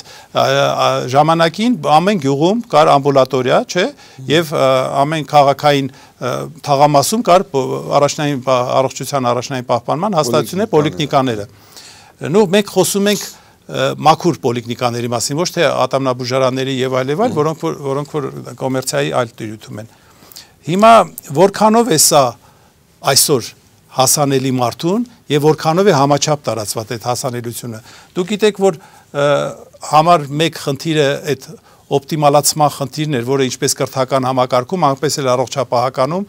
ժամանակին ամեն գյուղում կար ամբուլատորիա, չէ, եւ ամեն քաղաքային թաղամասում կար առաջնային առողջության առաջնային պահպանման հաստատություններ, պոլիկլինիկաները։ Նու մենք խոսում ենք մաքուր պոլիկլինիկաների մասին, ոչ թե ատամնաբուժարանների եւ այլ եւ այլ, որոնք որոնք որ կոմերցիայի այլ տիրույթում են։ Հիմա որքանով է սա այսօր հասանելի մարդուն եւ որքանով է համաչափ տարածված այդ հասանելիությունը։ Դուք գիտեք, որ համար մեկ խնդիրը այդ օպտիմալացման խնդիրն էր, որը ինչպես կրթական համակարգում, այնպես էլ առողջապահականում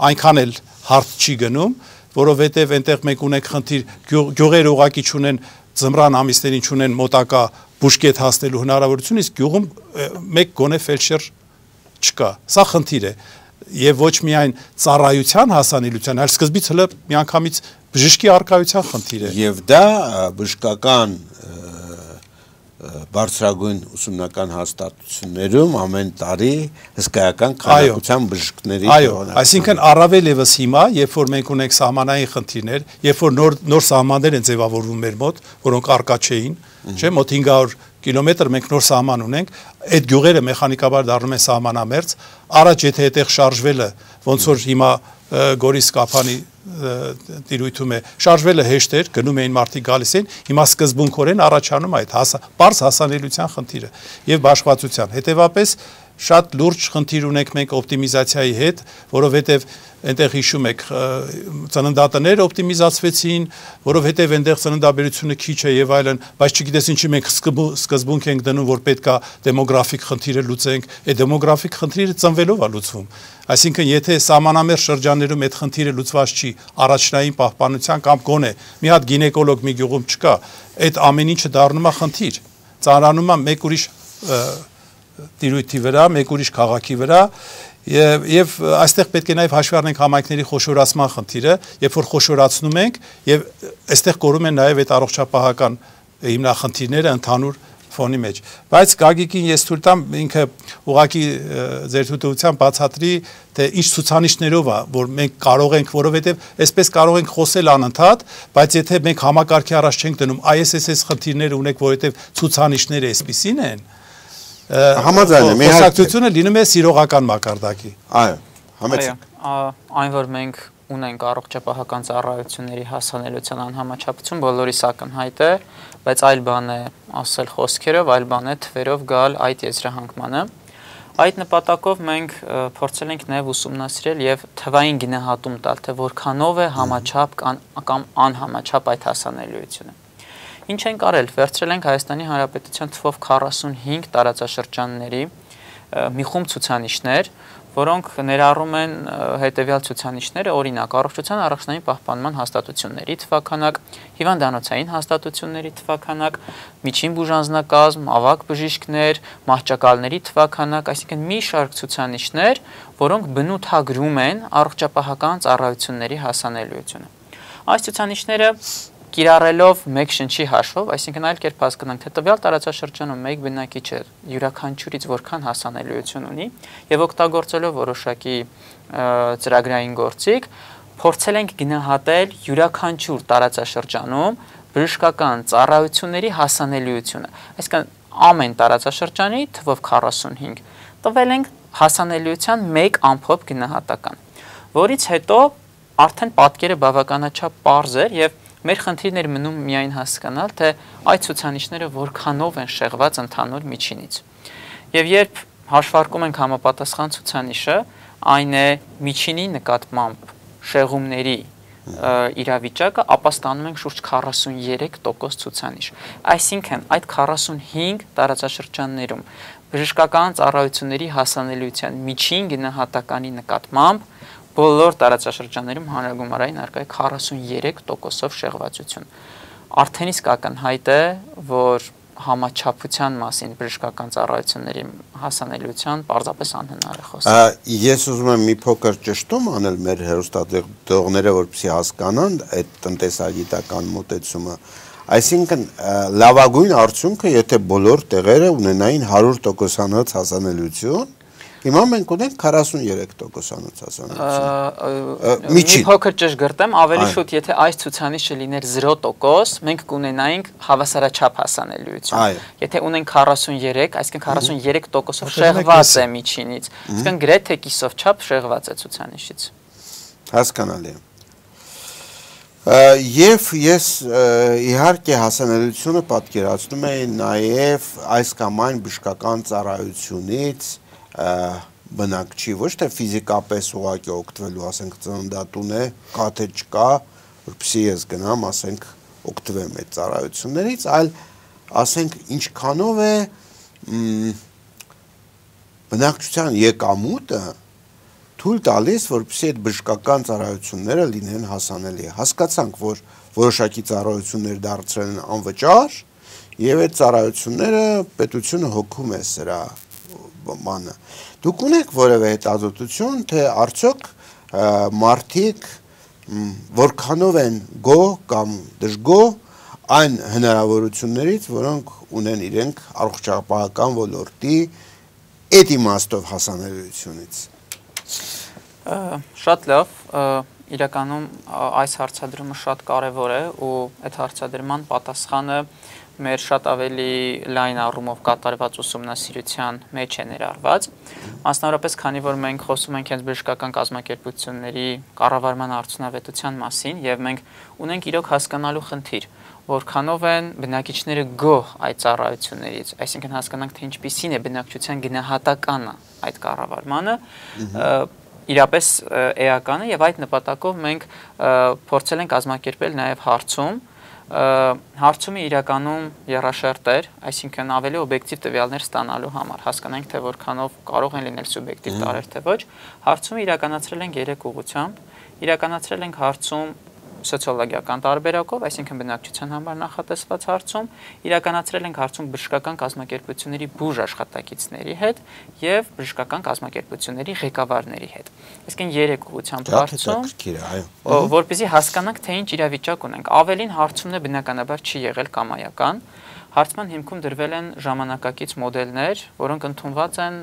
այնքան էլ հարթ չի գնում, որովհետև այնտեղ մենք ունենք խնդիր, գյուղերը ուղակի չունեն ձմռան ամիսներին չունեն մոտակա բուժկետ հասնելու հնարավորություն, իսկ գյուղում մեկ գոնե ֆելդշեր չկա։ Սա խնդիր է եւ ոչ միայն ծառայության հասանելիության, այլ սկզբից հələ միանգամից բժշկի արկայության խնդիր է։ Եվ դա բժշկական բարձրագույն ուսումնական հաստատություններում ամեն տարի հսկայական քանակությամբ բժիշկների Այո, այսինքն առավել եւս հիմա, երբ որ մենք ունենք սահմանային խնդիրներ, երբ որ նոր նոր սահմաններ են ձևավորվում մեր մոտ, որոնք արկա չէին, չէ՞, մոտ հինգ հարյուր կիլոմետր մենք նոր սահման ունենք, այդ գյուղերը մեխանիկաբար դառնում են սահմանամերձ, առաջ եթե այդտեղ շարժվելը, ոնց որ հիմա Գորիս Կապանի տիրույթում է, շարժվելը հեշտ էր, գնում էին մարդիկ գալիս էին, հիմա սկզբունքորեն առաջանում այդ պարզ հասանելիության խնդիրը եւ բաշխվածության։ Հետեւաբար շատ լուրջ խնդիր ունենք մենք օպտիմիզացիայի հետ, որովհետեւ այնտեղ հիշում եք ծննդատները օպտիմիզացվեցին, որովհետեւ այնտեղ ծննդաբերությունը քիչ է եւ այլն, բայց չգիտես ինչի մենք սկզբունք ենք դնում, որ պետքա դեմոգրաֆիկ խնդիրը լուծենք, այդ դեմոգրաֆիկ խնդիրը ծնվելով է լուծվում։ Այսինքն եթե սահմանամերձ շրջաններում այդ խնդիրը լուծված չի, առաջնային պահպանության կամ գոնե մի հատ գինեկոլոգ մի գյուղում չկա, այդ ամեն ինչը դառնում է խնդիր, ծանրանում է մեկ ուրիշ տիրույթի վրա, մեկ ուրիշ քաղաքի վրա եւ եւ այստեղ պետք է նաեւ հաշվի առնենք համայնքների խոշորացման խնդիրը, երբ որ խոշորացնում ենք եւ այստեղ կորում են նաեւ այդ առողջապահական հիմնախնդիրները ընդհանուր ֆոնի մեջ։ Բայց Գագիկին ես թույլ տամ ինքը ուղակի ձեր թույլտվությամբ բացատրի, թե ինչ ցուցանիշներով է, որ մենք կարող ենք, որովհետեւ այսպես կարող ենք խոսել անընդհատ, բայց եթե մենք համակարգի առաջ չենք դնում I S S S խնդիրները ունենք, որովհետեւ ցուցանիշները այսպիսին են, համաձայն եմ, խոսակցությունը լինում է սիրողական մակարդակի։ Այո, համեցեք։ Այն որ մենք ունենք առողջապահական ծառայությունների հասանելիության անհամաչափություն, բոլորիս ակնհայտ է, բայց այլ բան է ասել խոսքերով, այլ բան է թվերով գալ այդ եզրահանգմանը։ Այդ նպատակով մենք փորձել ենք նաև ուսումնասիրել եւ թվային գնահատում տալ, թե որքանով է համաչափ կամ անհամաչափ այդ հասանելիությունը։ Ինչ ենք արել, վերցրել ենք Հայաստանի Հանրապետության թվով քառասունհինգ տարածաշրջանների մի խումբ ցուցանիշներ, որոնք ներառում են հետևյալ ցուցանիշները, օրինակ առողջության առաջնային պահպանման հաստատությունների թվաքանակ, հիվանդանոցային հաստատությունների թվաքանակ, միջին բուժանձնակազմ, ավագ բժիշկներ, մահճակալների թվաքանակ, այսինքն մի շարք ցուցանիշներ, որոնք բնութագրում են առողջապահական ծառայությունների հասանելիությունը։ Այս ցուցանիշները կիրառելով մեկ շնչի հաշվով, այսինքն այլ կերպ հասկանանք, թե տվյալ տարածաշրջանում մեկ բնակիչը յուրաքանչյուրից որքան հասանելիություն ունի եւ օգտագործելով որոշակի ծրագրային գործիք, փորձել ենք գնահատել յուրաքանչյուր տարածաշրջանում բժշկական ծառայությունների հասանելիությունը։ Այսինքն ամեն տարածաշրջանի թվով քառասունհինգ տվել ենք հասանելիության մեկ ամփոփ գնահատական, որից հետո արդեն պատկերը բավականաչափ պարզ էր եւ մեր խնդիրներ մնում միայն հասկանալ, թե այդ ցուցանիշները որքանով են շեղված ընդհանուր միջինից։ Եվ երբ հաշվարկում ենք համապատասխան ցուցանիշը, այն է միջինի նկատմամբ շեղումների իրավիճակը, ապա ստանում ենք շուրջ քառասուներեք տոկոս ցուցանիշ։ Այսինքն այդ քառասունհինգ տարածաշրջաններում բժշկական ծառայությունների հասանելիության միջին գնահատականի նկատմամբ բոլոր տարածաշրջաններում հանրագումարային արկա է քառասուներեք տոկոսով շեղվածություն։ Արդեն իսկ ակնհայտ է, որ համաչափության մասին բժշկական ծառայությունների հասանելիության պարզապես անհնար է խոսել։ Ես ուզում եմ մի փոքր ճշտում անել մեր հեռուստատեղողները, որպեսզի հասկանան այդ տնտեսագիտական մոտեցումը։ Այսինքն լավագույն արդյունքը, եթե բոլոր տեղերը ունենային հարյուր տոկոսանոց հասանելիություն, հիմա մենք ունենք քառասուներեք տոկոսանոց հասանելիություն։ Մի փոքր ճշգրտեմ, ավելի շուտ, եթե այս ցուցանիշը լիներ զիրո տոկոս, մենք կունենայինք հավասարաչափ հասանելիություն։ Եթե ունենք քառասուներեք, այսինքն քառասուներեք տոկոսով շեղված է միջինից, այսինքն գրեթե կիսով չափ շեղված է ցուցանիշից։ Հասկանալի է։ Եվ ես իհարկե հասանելիությունը պատկերացնում եմ նաև այս կամ այն բժշկական ծառայությունից բնակչի, ոչ թե ֆիզիկապես ուղղակի օգտվելու, ասենք ծննդատուն է, կա թե չկա, որպեսզի ես գնամ, ասենք օգտվեմ այդ ծառայություններից, այլ ասենք ինչքանով է բնակչության եկամուտը թույլ տալիս, որպեսզի այդ բժշկական ծառայությունները լինեն հասանելի։ Հասկացանք, որ որոշակի ծառայություններ դարձրել են անվճար, եւ այդ ծառայությունները պետությունը հոգում է սրա բանը։ Դուք ունեք որևէ հետազոտություն, թե արդյոք մարդիկ որքանով են գոհ կամ դժգոհ այն հնարավորություններից, որոնք ունեն իրենք առողջապահական ոլորտի այդ իմաստով հասանելիությունից։ Շատ լավ, իրականում այս հարցադրումը շատ կարևոր է ու այդ հարցադրման պատասխանը մեր շատ ավելի լայն առումով կատարված ուսումնասիրության մեջ է ներառված, մասնավորապես քանի որ մենք խոսում ենք հենց բժշկական կազմակերպությունների կառավարման արդյունավետության մասին եւ մենք ունենք իրոք հասկանալու խնդիր, որքանով են բնակիչները գոհ այդ ծառայություններից, այսինքն հասկանանք, թե ինչպիսին է բնակչության գնահատականը այդ կառավարմանը, իրապես էական է եւ այդ նպատակով մենք փորձել ենք կազմակերպել նաեւ հարցում հարցումը իրականում եռաշերտ էր, այսինքն ավելի օբյեկտիվ տվյալներ ստանալու համար, հասկանանք, թե որքանով կարող են լինել սուբյեկտիվ տարեր, թե ոչ, հարցումը իրականացրել ենք երեք ուղղությամբ, իրականացրել ենք հարցում սոցիոլոգիական տարբերակով, այսինքն բնակչության համար նախատեսված հարցում, իրականացրել ենք հարցում բժշկական կազմակերպությունների բուժ աշխատակիցների հետ եւ բժշկական կազմակերպությունների ղեկավարների հետ։ Այսինքն երեք ուղղությամբ հարցում, որպեսզի հասկանանք, թե ինչ իրավիճակ ունենք։ Ավելին հարցումն է բնականաբար չի եղել կամայական, հարցման հիմքում դրվել են ժամանակակից մոդելներ, որոնք ընդունված են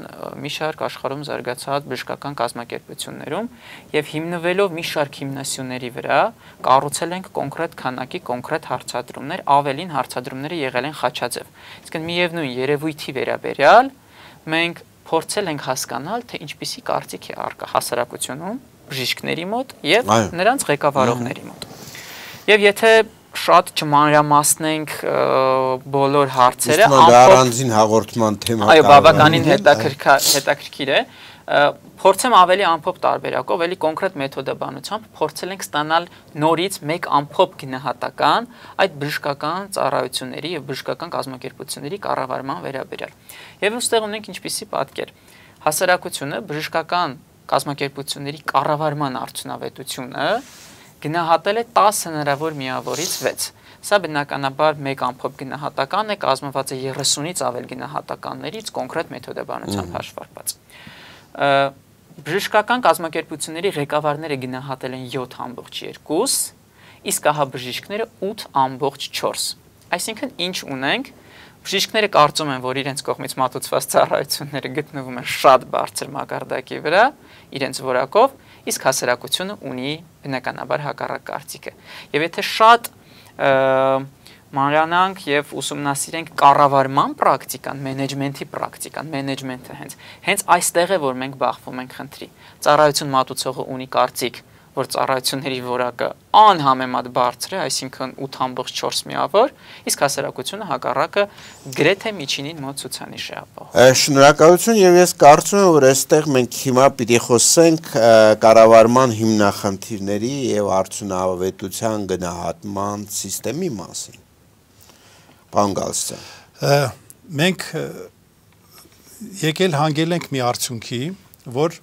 մի շարք աշխարհում զարգացած բժշկական կազմակերպություններում եւ հիմնվելով մի շարք հիմնասյուների վրա կառուցել ենք կոնկրետ քանակի կոնկրետ հարցադրումներ, ավելին հարցադրումները եղել են խաչաձև։ Իսկն միևնույն երևույթի վերաբերյալ մենք փորձել ենք հասկանալ, թե ինչպիսի կարծիք է առկա հասարակությունում բժիշկների մոտ եւ նրանց ղեկավարողների մոտ։ Եվ եթե շատ չմանրամասնենք բոլոր հարցերը, առանձին հաղորդման թեմա։ Այո, բավականին հետաքրքիր է։ Փորձեմ ավելի ամփոփ տարբերակով, էլի կոնկրետ մեթոդաբանությամբ փորձել ենք ստանալ նորից մեկ ամփոփ գնահատական այդ բժշկական ծառայությունների եւ բժշկական կազմակերպությունների կառավարման վերաբերյալ։ Եվ ուստեղ ունենք ինչպիսի պատկեր։ Հասարակությունը բժշկական կազմակերպությունների կառավարման արդյունավետությունը գնահատել է տասը հնարավոր միավորից վեց։ Սա բնականաբար մեկ ամփոփ գնահատական է, կազմված է երեսունից ավել գնահատականներից կոնկրետ մեթոդաբանությամբ հաշվարկված։ Բժշկական կազմակերպությունների ղեկավարները գնահատել են յոթ ամբողջ երկու, իսկ ահա բժիշկները ութ ամբողջ չորս։ Այսինքն ինչ ունենք, բժիշկները կարծում են, որ իրենց կողմից մատուցված ծառայությունները գտնվում են շատ բարձր մակարդակի վրա, իրենց որակով, իսկ հասարակությունը ունի բնականաբար հակառակ կարծիքը։ Եվ եթե շատ մանրանանք եւ ուսումնասիրենք կառավարման պրակտիկան, մենեջմենթի պրակտիկան, մենեջմենթը հենց հենց այստեղ է, որ մենք բախվում ենք խնդրի։ Ծառայություն մատուցողը ունի կարծիք, որ ծառայությունների որակը անհամեմատ բարձր է, այսինքն ութ ամբողջ չորս միավոր, իսկ հասարակությունը հակառակը գրեթե միջինին մոտ ցուցանիշ է ապահովում։ Շնորհակալություն, եւ ես կարծում եմ, որ այստեղ մենք հիմա պիտի խոսենք կառավարման հիմնախնդիրների եւ արդյունավետության գնահատման համակարգի մասին։ Պարոն Գալստյան, մենք եկել հանգել ենք մի արդյունքի, որ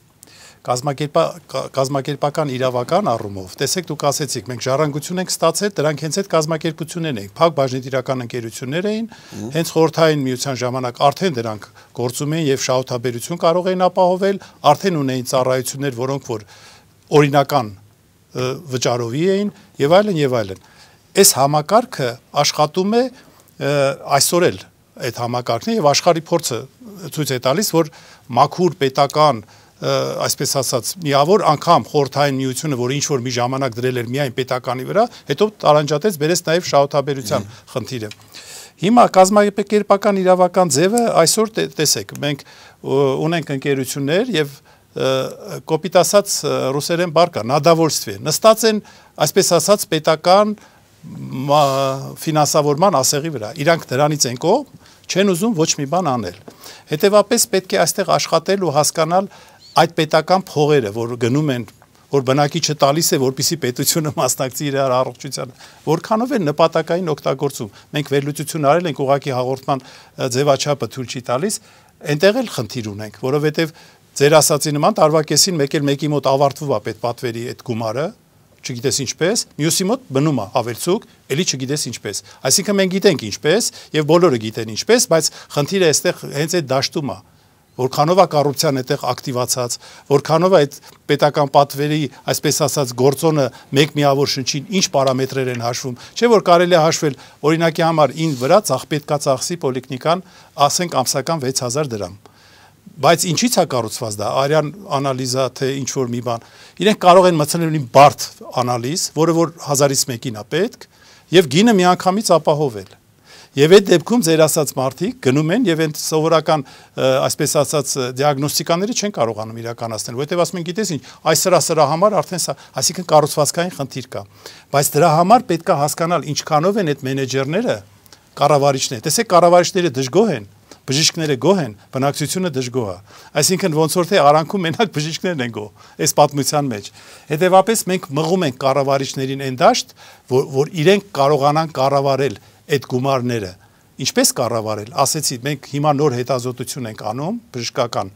կազմակերպական իրավական առումով, տեսեք դուք ասեցիք, մենք ժառանգություն ենք ստացել, դրանք հենց այդ կազմակերպություններն էին, փակ բաժնետիրական ընկերություններ էին, հենց խորհրդային միության ժամանակ արդեն դրանք գործում էին եւ շահութաբերություն կարող էին ապահովել, արդեն ունեին ծառայություններ, որոնք որ օրինական վճարովի էին եւ այլն եւ այլն։ Այս համակարգը աշխատում է այսօր էլ այդ համակարգն է եւ աշխարհի փորձը ցույց է տալիս, որ մաքուր պետական այսպես ասած միավոր անգամ խորհրդային միությունը, որ ինչ որ մի ժամանակ դրել էր միայն պետականի վրա, հետո տարանջատեց, բերեց նաև շահութաբերության խնդիրը։ Հիմա կազմակերպական իրավական ձևը այսօր տեսեք, մենք ունենք ընկերություններ եւ կոպիտ ասած ռուսերեն բառ կա, նադավոլստվի, նստած են, այսպես ասած պետական ֆինանսավորման ասեղի վրա։ Իրանք դրանից են կողմ, չեն ուզում ոչ մի բան անել։ Հետևաբար պետք է այստեղ աշխատել ու հասկանալ այդ պետական փողերը, որ գնում են, որ բնակիչը տալիս է, որպեսզի պետությունը մասնակցի իր առողջությանը, որքանով են նպատակային օգտագործում։ Մենք վերլուծություն արել ենք, ուղղակի հաղորդման ձևաչափը թույլ չի տալիս, այնտեղ էլ խնդիր ունենք, որովհետև ձեր ասացի նման տարվա կեսին մեկ էլ մեկի մոտ ավարտվում է պետպատվերի այդ գումարը, չգիտես ինչպես, մյուսի մոտ բնում է ավելցուկ, էլի չգիտես ինչպես։ Այսինքն մենք գիտենք ինչպես եւ բոլորը գիտեն ինչպես, բայց խնդիրը այստեղ հենց այդ դաշտում է, որքանով է կոռուպցիան այդտեղ ակտիվացած, որքանով է այդ պետական պատվերի, այսպես ասած, գործոնը մեկ միավոր շնչին ինչ պարամետրեր են հաշվում, չէ՞ որ կարելի է հաշվել օրինակի համար ին վրա ցախ պետքա ծախսի պոլիկլինիկան, ասենք ամսական վեց հազար դրամ։ Բայց ինչի՞ց է կառուցված դա, արյան անալիզա, թե ինչ որ մի բան։ Իրենք կարող են մտցնել մի բարդ անալիզ, որը որ հազարից մեկին է պետք, եւ գինը միանգամից ապահովել։ Եվ այդ դեպքում ձեր ասած մարդիկ գնում են եւ այն սովորական, այսպես ասած, դիագնոստիկաները չեն կարողանում իրականացնել, որովհետեւ ասում են, գիտես ինչ, այս սրա սրա համար արդեն սա, այսինքն կառուցվածքային խնդիր կա։ Բայց դրա համար պետք է հասկանալ ինչքանով են այդ մենեջերները կառավարիչները։ Տեսեք, կառավարիչները դժգոհ են, բժիշկները գոհ են, բնակչությունը դժգոհ է։ Այսինքն ոնց որ թե արանքում մենակ բժիշկներն են գոհ այս պատմության մեջ։ Հետևաբար մենք մղում ենք կառավարիչներին այն դաշտ, որ, որ իրենք կարողանան կառավարել այդ գումարները։ Ինչպես կառավարել, ասեցի, մենք հիմա նոր հետազոտություն ենք անում, բժշկական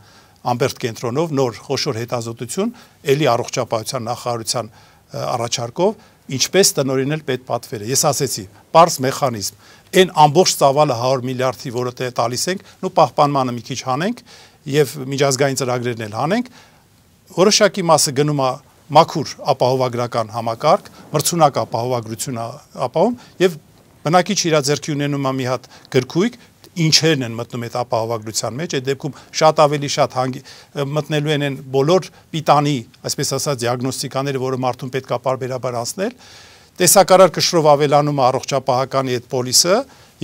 ամբերտ կենտրոնով, նոր խոշոր հետազոտություն, էլի առողջապահության նախարարության առաջարկով, ինչպես տնօրինել պետպատվերը։ Ես ասեցի, պարզ մեխանիզմ, այն ամբողջ ծավալը հարյուր միլիարդի, որը տալիս ենք, նու պահպանմանը մի քիչ հանենք եւ միջազգային ծրագրերն էլ հանենք, որոշակի մասը գնում է մաքուր ապահովագրական համակարգ, մրցունակ ապահովագրություն ապահովում եւ բնակիչ իր ձեռքի ունենում է մի հատ գրքույկ, ինչերն են մտնում այդ ապահովագրության մեջ, այդ դեպքում շատ ավելի շատ հանգի, մտնելու են են բոլոր պիտանի, այսպես ասած, դիագնոստիկաները, որը մարդուն պետք է պարբերաբար անցնել, տեսակարար կշռով ավելանում է առողջապահականի այդ պոլիսը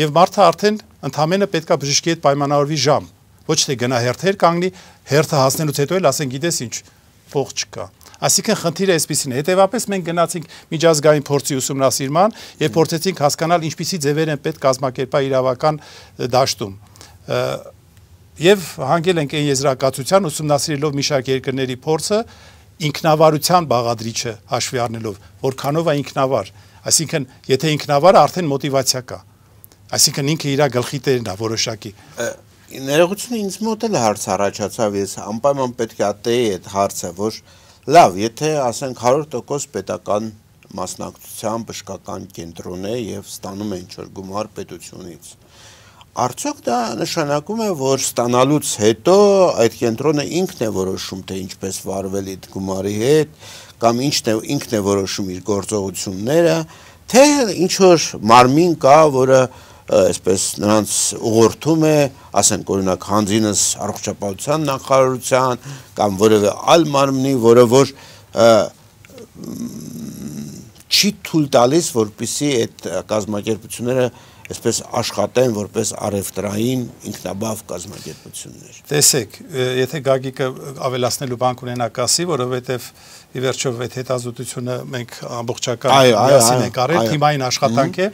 եւ մարդը արդեն ընդհանրապես պետք է բժշկի հետ պայմանավորվի ժամ, ոչ թե գնա հերթեր կանգնի, հերթը հասնելուց հետո էլ ասեն, գիտես ինչ, փող չկա։ Այսինքն խնդիրը այսպեսին է, հետևապես մենք գնացինք միջազգային փորձի ուսումնասիրման եւ փորձեցինք հասկանալ ինչպիսի ձևեր են պետք կազմակերպել իրավական դաշտում։ Եվ հանգել ենք այն եզրակացության ուսումնասիրելով մի շարք երկրների փորձը ինքնավարության բաղադրիչը հաշվի առնելով, որքանով է ինքնավար, այսինքն եթե ինքնավարը արդեն մոտիվացիա կա, այսինքն ինքը իր գլխի տերն է որոշակի։ Ներողությունը ինձ մոտ էլ հարց առաջացավ, ես անպայման պետք է ատեի այդ հարցը, որ լավ, եթե ասենք հարյուր տոկոս պետական մասնակցության բժշկական կենտրոն է եւ ստանում է ինչ-որ գումար պետությունից, արդյոք դա նշանակում է, որ ստանալուց հետո այդ կենտրոնը ինքն է որոշում, թե ինչպես վարվել այդ գումարի հետ, կամ ինչն է ինքն է որոշում իր գործողությունները, թե ինչ-որ մարմին կա, որը այսպես նրանց ուղղորդում է, ասենք օրինակ հանձինս առողջապահության նախարարության կամ որևէ այլ մարմնի, որը որ չի թույլ տալիս, որպեսզի այդ կազմակերպությունները այսպես աշխատեն որպես առևտրային ինքնաբավ կազմակերպություններ։ Տեսեք, եթե Գագիկը ավելացնելու բան ունենա կասի, որովհետև ի վերջո այդ հետազոտությունը մենք ամբողջական միասին ենք արել, թիմային աշխատանք է,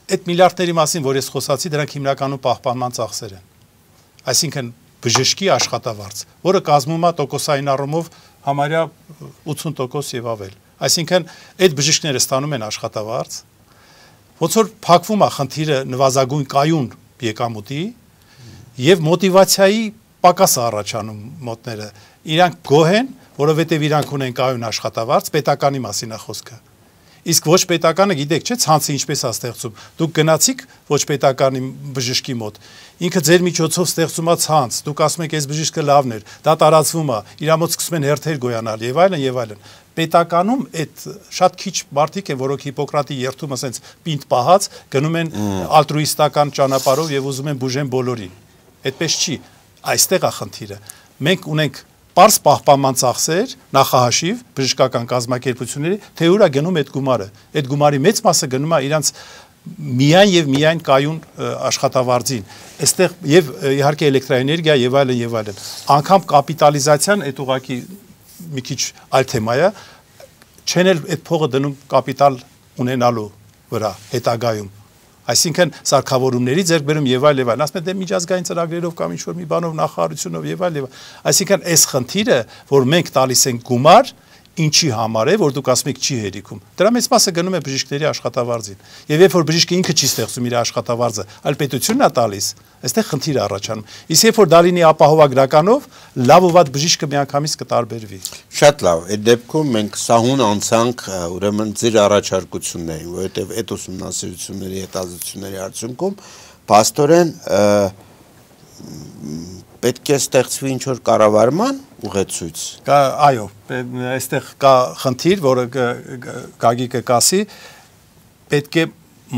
այդ միլիարդների մասին, որ ես խոսացի, դրանք հիմնականում պահպանման ծախսեր են։ Այսինքն բժշկի աշխատավարձ, որը կազմում է տոկոսային առումով համարյա ութսուն տոկոս եւ ավել։ Այսինքն այդ բժիշկները ստանում են աշխատավարձ, ոնց որ փակվում է խնդիրը նվազագույն կայուն եկամուտի եւ մոտիվացիայի պակաս առաջանում մոտները։ Իրանք գոհ են, որովհետեւ իրանք ունեն կայուն աշխատավարձ, պետականի մասին է խոսքը։ Իսկ ոչ պետականը գիտեք, չէ՞, ցանցը ինչպես է ստեղծում։ Դուք գնացիք ոչ պետականի բժշկի մոտ։ Ինքը ձեր միջոցով ստեղծում է ցանց։ Դուք ասում եք, այս բժիշկը լավն էր, դա տարածվում է, իր մոտ սկսում են հերթեր գոյանալ եւ այլն եւ այլն։ Պետականում այդ շատ քիչ մարդիկ են, որոնք Հիպոկրատի երթումը ասենց պինդ պահած գնում են ալտրուիստական ճանապարհով եւ ուզում են բուժեն բոլորին։ Այդպես չի։ Այստեղ է խնդիրը։ Մենք ունենք պարզ պահպանման ծախսեր, նախահաշիվ, բժշկական կազմակերպությունների, թե ուր է գնում այդ գումարը։ Այդ գումարի մեծ մասը գնում է իրանց միայն եւ միայն կայուն աշխատավարձին։ Այստեղ եւ իհարկե էլեկտրաէներգիա եւ այլն եւ այլն։ Անկամ կապիտալիզացիան այդ ուղակի մի քիչ այլ թեմա է, չեն էլ այդ փողը դնում կապիտալ ունենալու վրա հետագայում։ Այսինքն սարքավորումների ձեռքբերում եւ այլ եւ այլ, ասում են դե միջազգային ծրագրերով կամ ինչ որ մի բանով նախարարությունով եւ այլ եւ այլ։ Այսինքն այս խնդիրը, որ մենք տալիս ենք գումար, ինչի համար է, որ դուք ասում եք չի հերիքում։ Դրա մեծ մասը գնում է բժիշկների աշխատավարձին։ Եվ երբ որ բժիշկը ինքը չի ստեղծում իր աշխատավարձը, այլ պետությունն է տալիս, այստեղ խնդիր է առաջանում։ Իսկ երբ որ դա լինի ապահովագրականով, լավ ու վատ բժիշկը միանգամից կտարբերվի։ Շատ լավ, այդ դեպքում մենք սահուն անցանք ուրեմն ձեր առաջարկություններին, որովհետև այդ ուսումնասիրությունների հետազոտությունների արդյունքում փաստորեն պետք է ստեղծվի ինչ-որ կառավարման ուղեցույց։ Կա, այո, այստեղ կա խնդիր, որը Գագիկը կասի, պետք է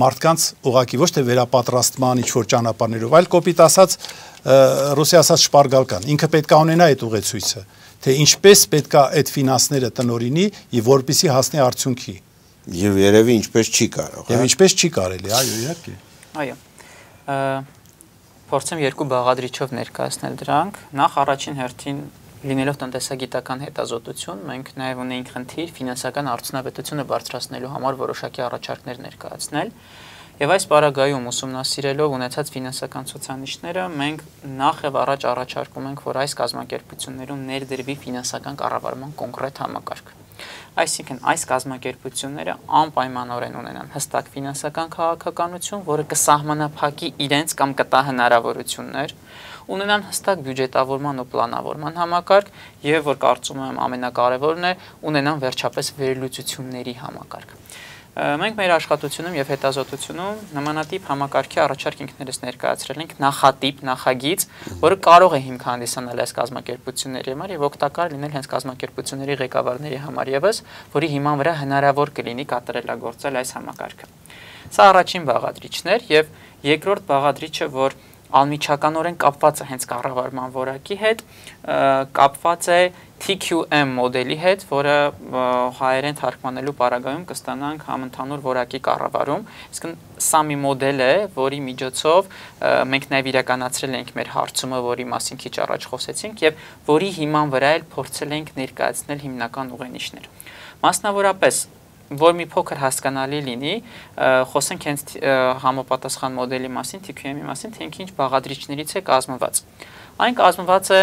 մարդկանց ուղղակի ոչ թե վերապատրաստման ինչ-որ ճանապարհներով, այլ կոպիտ ասած, ռուսի ասած շպարգալկան, ինքը պետք է ունենա այդ ուղեցույցը, թե ինչպես պետք է այդ ֆինանսները տնօրինի եւ որպեսզի հասնի արդյունքի։ Եվ երևի ինչպես չի կարող։ Եվ ինչպես չի կարելի, այո, իհարկե։ Այո։ Փորձեմ երկու բաղադրիչով ներկայացնել դրանք։ Նախ առաջին հերթին լինելով տնտեսագիտական հետազոտություն, մենք նաև ունեինք խնդիր ֆինանսական արդյունավետությունը բարձրացնելու համար որոշակի առաջարկներ ներկայացնել։ Եվ այս պարագայում ուսումնասիրելով ունեցած ֆինանսական ցուցանիշները, մենք նախ եւ առաջ առաջարկում ենք, որ այս կազմակերպություններում ներդրվի ֆինանսական կառավարման կոնկրետ համակարգ։ Այսինքն այս կազմակերպությունները անպայմանորեն ունենան հստակ ֆինանսական քաղաքականություն, որը կսահմանափակի իրենց կամ կտա հնարավորություններ, ունենան հստակ բյուջետավորման ու պլանավորման համակարգ եւ որ կարծում եմ ամենակարևորն է, ունենան վերջապես վերլուծությունների համակարգ։ Մենք մեր աշխատությունում եւ հետազոտությունում նմանատիպ համակարգի առաջարկ ինքներս ներկայացրել ենք նախատիպ, նախագիծ, որը կարող է հիմք հանդիսանալ այս կազմակերպությունների համար եւ օգտակար լինել հենց կազմակերպությունների ղեկավարների համար եւս, որի հիման վրա հնարավոր կլինի կատարելագործել այս համակարգը։ Սա առաջին բաղադրիչն էր եւ երկրորդ բաղադրիչը, որ անմիջականորեն կապված է հենց կառավարման որակի հետ, կապված է T Q M մոդելի հետ, որը հայերեն թարգմանելու պարագայում կստանանք համընդհանուր որակի կառավարում, իսկ սա մի մոդել է, որի միջոցով մենք նաև իրականացրել ենք մեր հարցումը, որի մասին քիչ առաջ խոսեցինք, եւ որի հիման վրա էլ փորձել ենք ներկայացնել հիմնական ուղենիշներ։ Մասնավորապես որ մի փոքր հասկանալի լինի, խոսենք հենց համապատասխան մոդելի մասին, T Q M-ի մասին, թե ինքը ինչ բաղադրիչներից է կազմված։ Այն կազմված է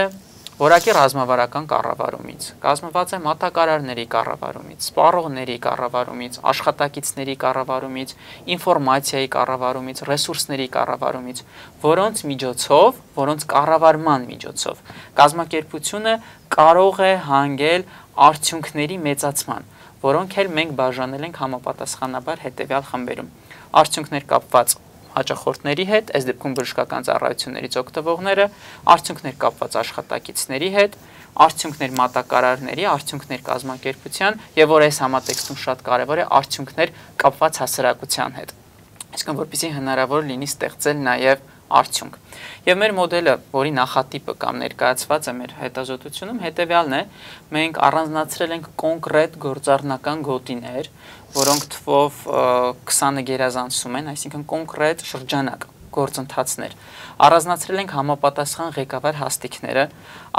որակի ռազմավարական կառավարումից, կազմված է մատակարարների կառավարումից, սպառողների կառավարումից, աշխատակիցների կառավարումից, ինֆորմացիայի կառավարումից, ռեսուրսների կառավարումից, որոնց միջոցով, որոնց կառավարման միջոցով կազմակերպությունը կարող է հանգել արդյունքների մեծացման, որոնք էլ մենք բաժանել ենք համապատասխանաբար հետևյալ խմբերում։ Արդյունքներ կապված հաճախորդների հետ, այս դեպքում բժշկական ծառայություններից օգտվողները, արդյունքներ կապված աշխատակիցների հետ, արդյունքներ մատակարարների, արդյունքներ կազմակերպության եւ որ այս համատեքստում շատ կարեւոր է արդյունքներ կապված հասարակության հետ։ Այսինքն որպեսզի հնարավոր լինի ստեղծել նաեւ արդյունք։ Եվ մեր մոդելը, որի նախատիպը կամ ներկայացված է մեր հետազոտությունում, հետևյալն է, մենք առանձնացրել ենք կոնկրետ գործառնական գոտիներ, որոնք թվով քսանը գերազանցում են, այսինքն կոնկրետ շրջանակ, գործընթացներ։ Առանձնացրել ենք համապատասխան ղեկավար հաստիքները,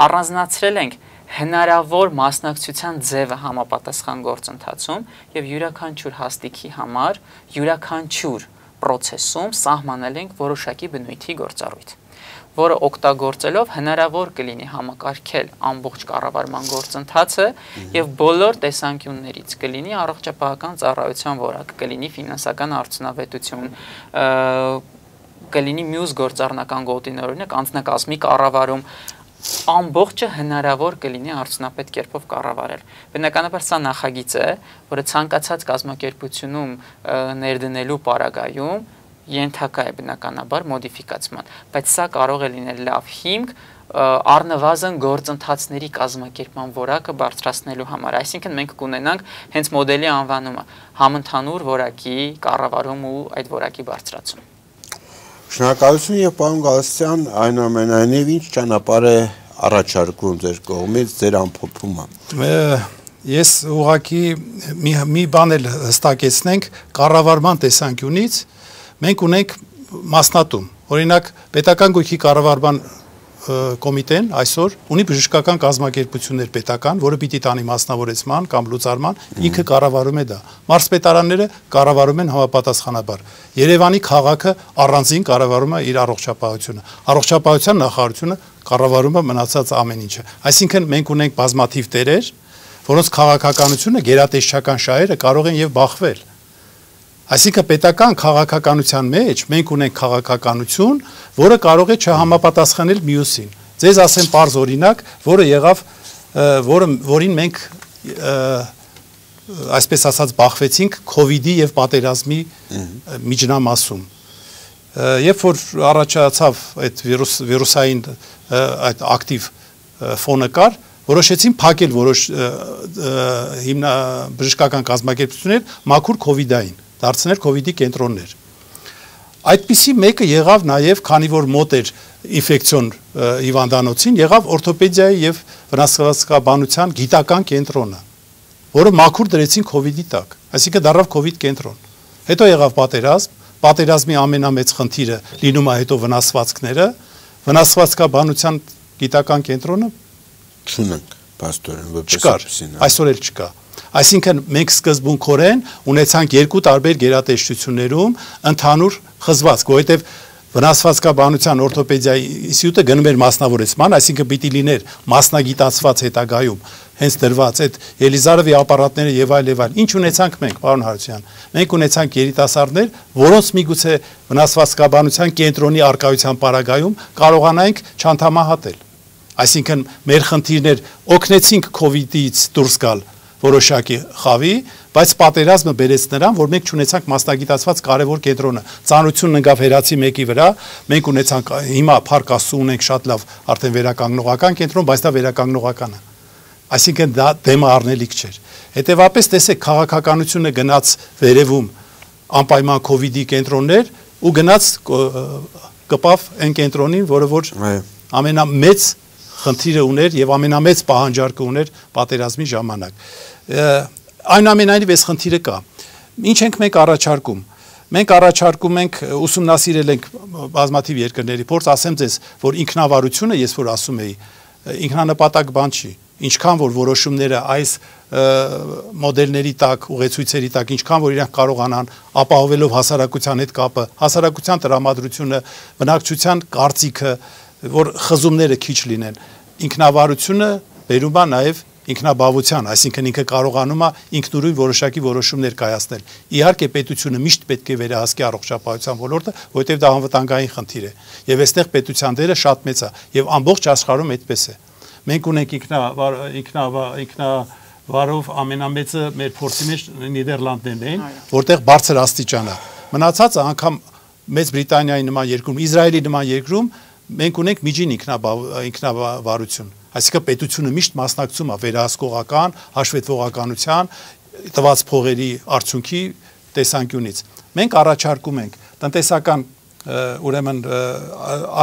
առանձնացրել ենք հնարավոր մասնակցության ձևը համապատասխան գործընթացում եւ յուրաքանչյուր հաստիքի համար յուրաքանչյուր պրոցեսում սահմանել ենք որոշակի բնույթի գործառույթ, որը օգտագործելով հնարավոր կլինի համակարգել ամբողջ կառավարման գործընթացը եւ բոլոր տեսանկյուններից կլինի առողջապահական ծառայության որակ, կլինի ֆինանսական արդյունավետություն, կլինի մյուս գործառնական գոտիներ, օրինակ անձնակազմի կառավարում, ամբողջը հնարավոր կլինի արդյունավետ կերպով կառավարել։ Բնականաբար սա նախագիծ է, որը ցանկացած կազմակերպությունում ներդնելու պարագայում ենթակա է բնականաբար մոդիֆիկացման, բայց սա կարող է լինել լավ հիմք առնվազն գործընթացների կազմակերպման որակը բարձրացնելու համար։ Այսինքն մենք կունենանք հենց մոդելի անվանումը համընդհանուր որակի կառավարում ու այդ որակի բարձրացում։ Շնորհակալություն եւ պարոն Գալստյան, այնուամենայնիվ ինչ ճանապարհ է առաջարկում ձեր կողմից ձեր ամփոփումը։ Ես ուղղակի մի մի բան էլ հստակեցնենք կառավարման տեսանկյունից մենք ունենք մասնատում։ Օրինակ պետական գույքի կառավարման կոմիտեն այսօր ունի բժշկական կազմակերպություններ պետական, որը պիտի տանի մասնավորեցման կամ լուծարման, ինքը կառավարում է դա։ Մարզպետարանները կառավարում են համապատասխանաբար։ Երևանի քաղաքը առանձին կառավարում է իր առողջապահությունը։ Առողջապահության նախարարությունը կառավարում է մնացած ամեն ինչը։ Այսինքն մենք ունենք բազմաթիվ տերեր, որոնց քաղաքականությունը գերատեսչական շահերը կարող են եւ բախվել։ Այսինքն պետական քաղաքականության մեջ մենք ունենք քաղաքականություն, որը կարող է չհամապատասխանել մյուսին։ Ձեզ ասեմ պարզ օրինակ, որը եղավ, որը որին մենք այսպես ասած բախվեցինք COVID-ի եւ պատերազմի միջնամասում։ Երբ որ առաջացավ այդ վիրուս վիրուսային այդ ակտիվ ֆոնը կար, որոշեցին փակել որոշ հիմնա բժշկական կազմակերպություններ մաքուր COVID-ային, դարձնել COVID-ի կենտրոններ։ Այդպիսի մեկը եղավ նաև, քանի որ մոտ էր ինֆեկցիոն հիվանդանոցին, եղավ օրթոպեդիայի եւ վնասվածքաբանության գիտական կենտրոնը, որը մաքուր դրեցին COVID-ի տակ, այսինքն դառավ COVID կենտրոն։ Հետո եղավ պատերազմ, պատերազմի ամենամեծ խնդիրը լինում է հետո վնասվածքները, վնասվածքաբանության գիտական կենտրոնը չունենք, պաստորեն, որպես այդպեսին։ Այսօր էլ չկա։ Այսինքն մենք սկզբունքորեն ունեցանք երկու տարբեր գերատեսչություններում ընդհանուր խզվածք, որովհետև վնասվածքաբանության օրթոպեդիայի ինստիտուտը գնում էր մասնավորեցման, այսինքն պիտի լիներ մասնագիտացված հետագայում հենց դրված այդ Ելիզարովի ապարատները եւ այլ եւ այլ։ Ինչ ունեցանք մենք, պարոն Հարությունյան։ Մենք ունեցանք երիտասարդներ, որոնց միգուցե վնասվածքաբանության կենտրոնի արկայության պարագայում կարողանայինք չանդամահատել։ Այսինքն մեր խնդիրներ օգնեցինք COVID-ից դուրս գալ որոշակի խավի, բայց պատերազմը բերեց նրան, որ մենք չունեցանք մասնագիտացված կարևոր կենտրոնը։ Ծանրությունն ընկավ հերացի մեկի վրա, մենք ունեցանք հիմա Փառք Աստծո ունենք շատ լավ արդեն վերականգնողական կենտրոն, բայց դա վերականգնողական է։ Այսինքն դա դեմը առնելիք չէր։ Հետևաբար տեսեք, քաղաքականությունը գնաց վերևում անպայման COVID-ի կենտրոններ ու գնաց կպավ այն կենտրոնին, որը որ ամենամեծ խնդիրը ուներ եւ ամենամեծ պահանջարկը ուներ պատերազմի ժամանակ։ Այնուամենայնիվ այս խնդիրը կա։ Ինչ ենք մենք առաջարկում։ Մենք առաջարկում ենք, ուսումնասիրել ենք բազմաթիվ երկրների փորձ, ասեմ ձեզ, որ ինքնավարությունը, ես որ ասում էի, ինքնանպատակ բան չի։ Ինչքան որ որոշումները այս մոդելների տակ, ուղեցույցերի տակ, ինչքան որ իրանք կարողանան ապահովելով հասարակության հետ կապը, հասարակության տրամադրությունը, բնակչության կարծիքը, որ խզումները քիչ լինեն, ինքնավարությունը բերում է նաև ինքնաբավության, այսինքն ինքը կարողանում է ինքնուրույն որոշակի որոշումներ կայացնել։ Իհարկե պետությունը միշտ պետք է վերահսկի առողջապահության ոլորտը, որովհետև դա անվտանգային խնդիր է, եւ այստեղ պետության դերը շատ մեծ է, եւ ամբողջ աշխարհում այդպես է։ Մենք ունենք ինքնավարով ամենամեծը մեր փորձի մեջ Նիդերլանդներն են, որտեղ բարձր աստիճան է։ Մնացածը անգամ Մեծ Բրիտանիայի նման երկրում, Իսրայելի նման երկրում մենք ունենք միջին ինքնավարություն, այսինքն պետությունը միշտ մասնակցում է վերահսկողական, հաշվետվողականության, տված փողերի արդյունքի տեսանկյունից։ Մենք առաջարկում ենք տնտեսական, ուրեմն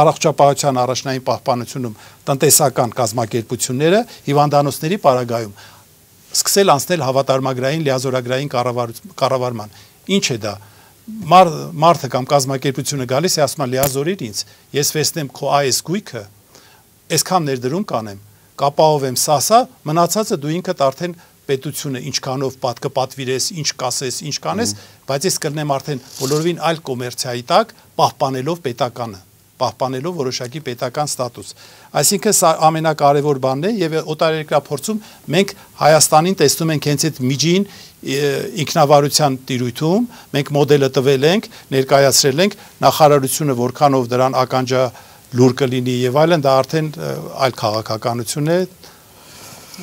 առողջապահության առաջնային պահպանությունում տնտեսական կազմակերպությունները հիվանդանոցների պարագայում սկսել անցնել հավատարմագրային լիազորագրային կառավարման։ Ինչ է դա։ Մարդը կամ կազմակերպությունը գալիս է, ասում է լիազորիր ինձ, ես վերցնեմ քո այս գույքը, այսքան ներդրում կանեմ, կապահովեմ սա, մնացածը դու ինքդ արդեն պետությունը ինչքանով կպատվիրես, ինչ կասես, ինչ կանես, բայց ես կլնեմ արդեն բոլորովին այլ կոմերցիայի տակ, պահպանելով պետականը, պահպանելով որոշակի պետական ստատուս։ Այսինքն սա ամենակարևոր բանն է եւ օտարերկրափորձում մենք Հայաստանին տեսնում ենք հենց այդ միջին ինքնավարության տիրույթում, մենք մոդելը տվել ենք, ներկայացրել ենք, նախարարությունը որքանով դրան ականջա լուր կլինի եւ այլն, դա արդեն այլ քաղաքականություն է։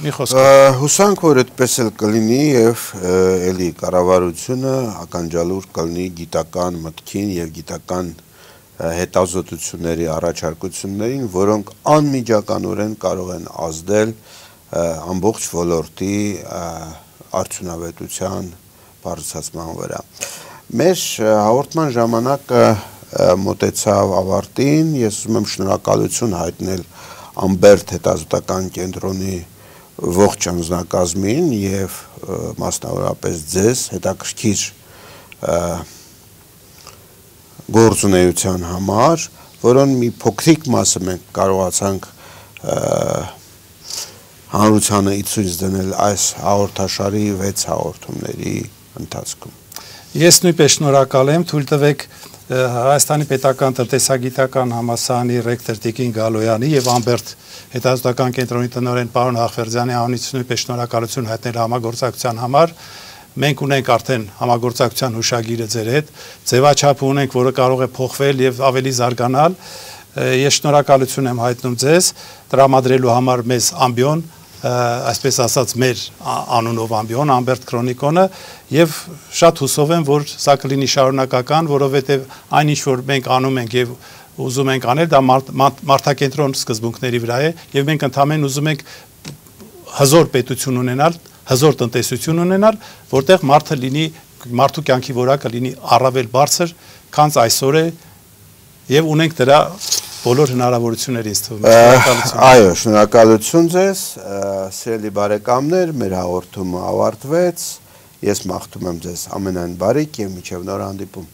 Մի խոսք։ Հուսանք, որ այդպես էլ կլինի եւ էլի կառավարությունը ականջալուր կլինի գիտական մտքին եւ գիտական հետազոտությունների առաջարկություններին, որոնք անմիջականորեն կարող են ազդել ամբողջ ոլորտի արդյունավետության բարձրացման վրա։ Մեր հաղորդման ժամանակը մոտեցավ ավարտին, ես ուզում եմ շնորհակալություն հայտնել Ամբերտ հետազոտական կենտրոնի ողջ անձնակազմին եւ մասնավորապես ձեզ հետաքրքիր գործունեության համար, որոնց մի փոքրիկ մասը մենք կարողացանք հանրությանը ցույց դնել այս հաղորդաշարի վեց հաղորդումների ընթացքում։ Ես նույնպես շնորհակալ եմ, թույլ տվեք Հայաստանի պետական տնտեսագիտական համալսարանի ռեկտոր Տիկին Գալոյանի եւ Ամբերտ հետազոտական կենտրոնի տնօրեն պարոն Հախվերդյանի անունից նույնպես շնորհակալություն հայտնել համագործակցության համար։ Մենք ունենք արդեն համագործակցության հուշագիրը ձեր հետ, ձևաչափ ունենք, որը կարող է փոխվել եւ ավելի զարգանալ։ Ես շնորհակալություն եմ հայտնում ձեզ տրամադրելու համար մեզ ամբիոն, այսպես ասած մեր անունով ամբիոն, Ամբերտ Քրոնիկոնը եւ շատ հուսով եմ, որ սա կլինի շարունակական, որովհետեւ այնինչ որ մենք անում ենք եւ ուզում ենք անել, դա մարդակենտրոն սկզբունքների վրա է եւ մենք ընդհանրեն ուզում ենք հզոր պետություն ունենալ, հզոր տնտեսություն ունենալ, որտեղ մարդը լինի, մարդու կյանքի որակը լինի առավել բարձր, քան այսօր է եւ ունենք դրա բոլոր հնարավորությունները ինձ թվում է։ Այո, շնորհակալություն ձեզ, սիրելի բարեկամներ, մեր հաղորդումը ավարտվեց։ Ես մաղթում եմ ձեզ ամենայն բարիք եւ մինչեւ նոր հանդիպում։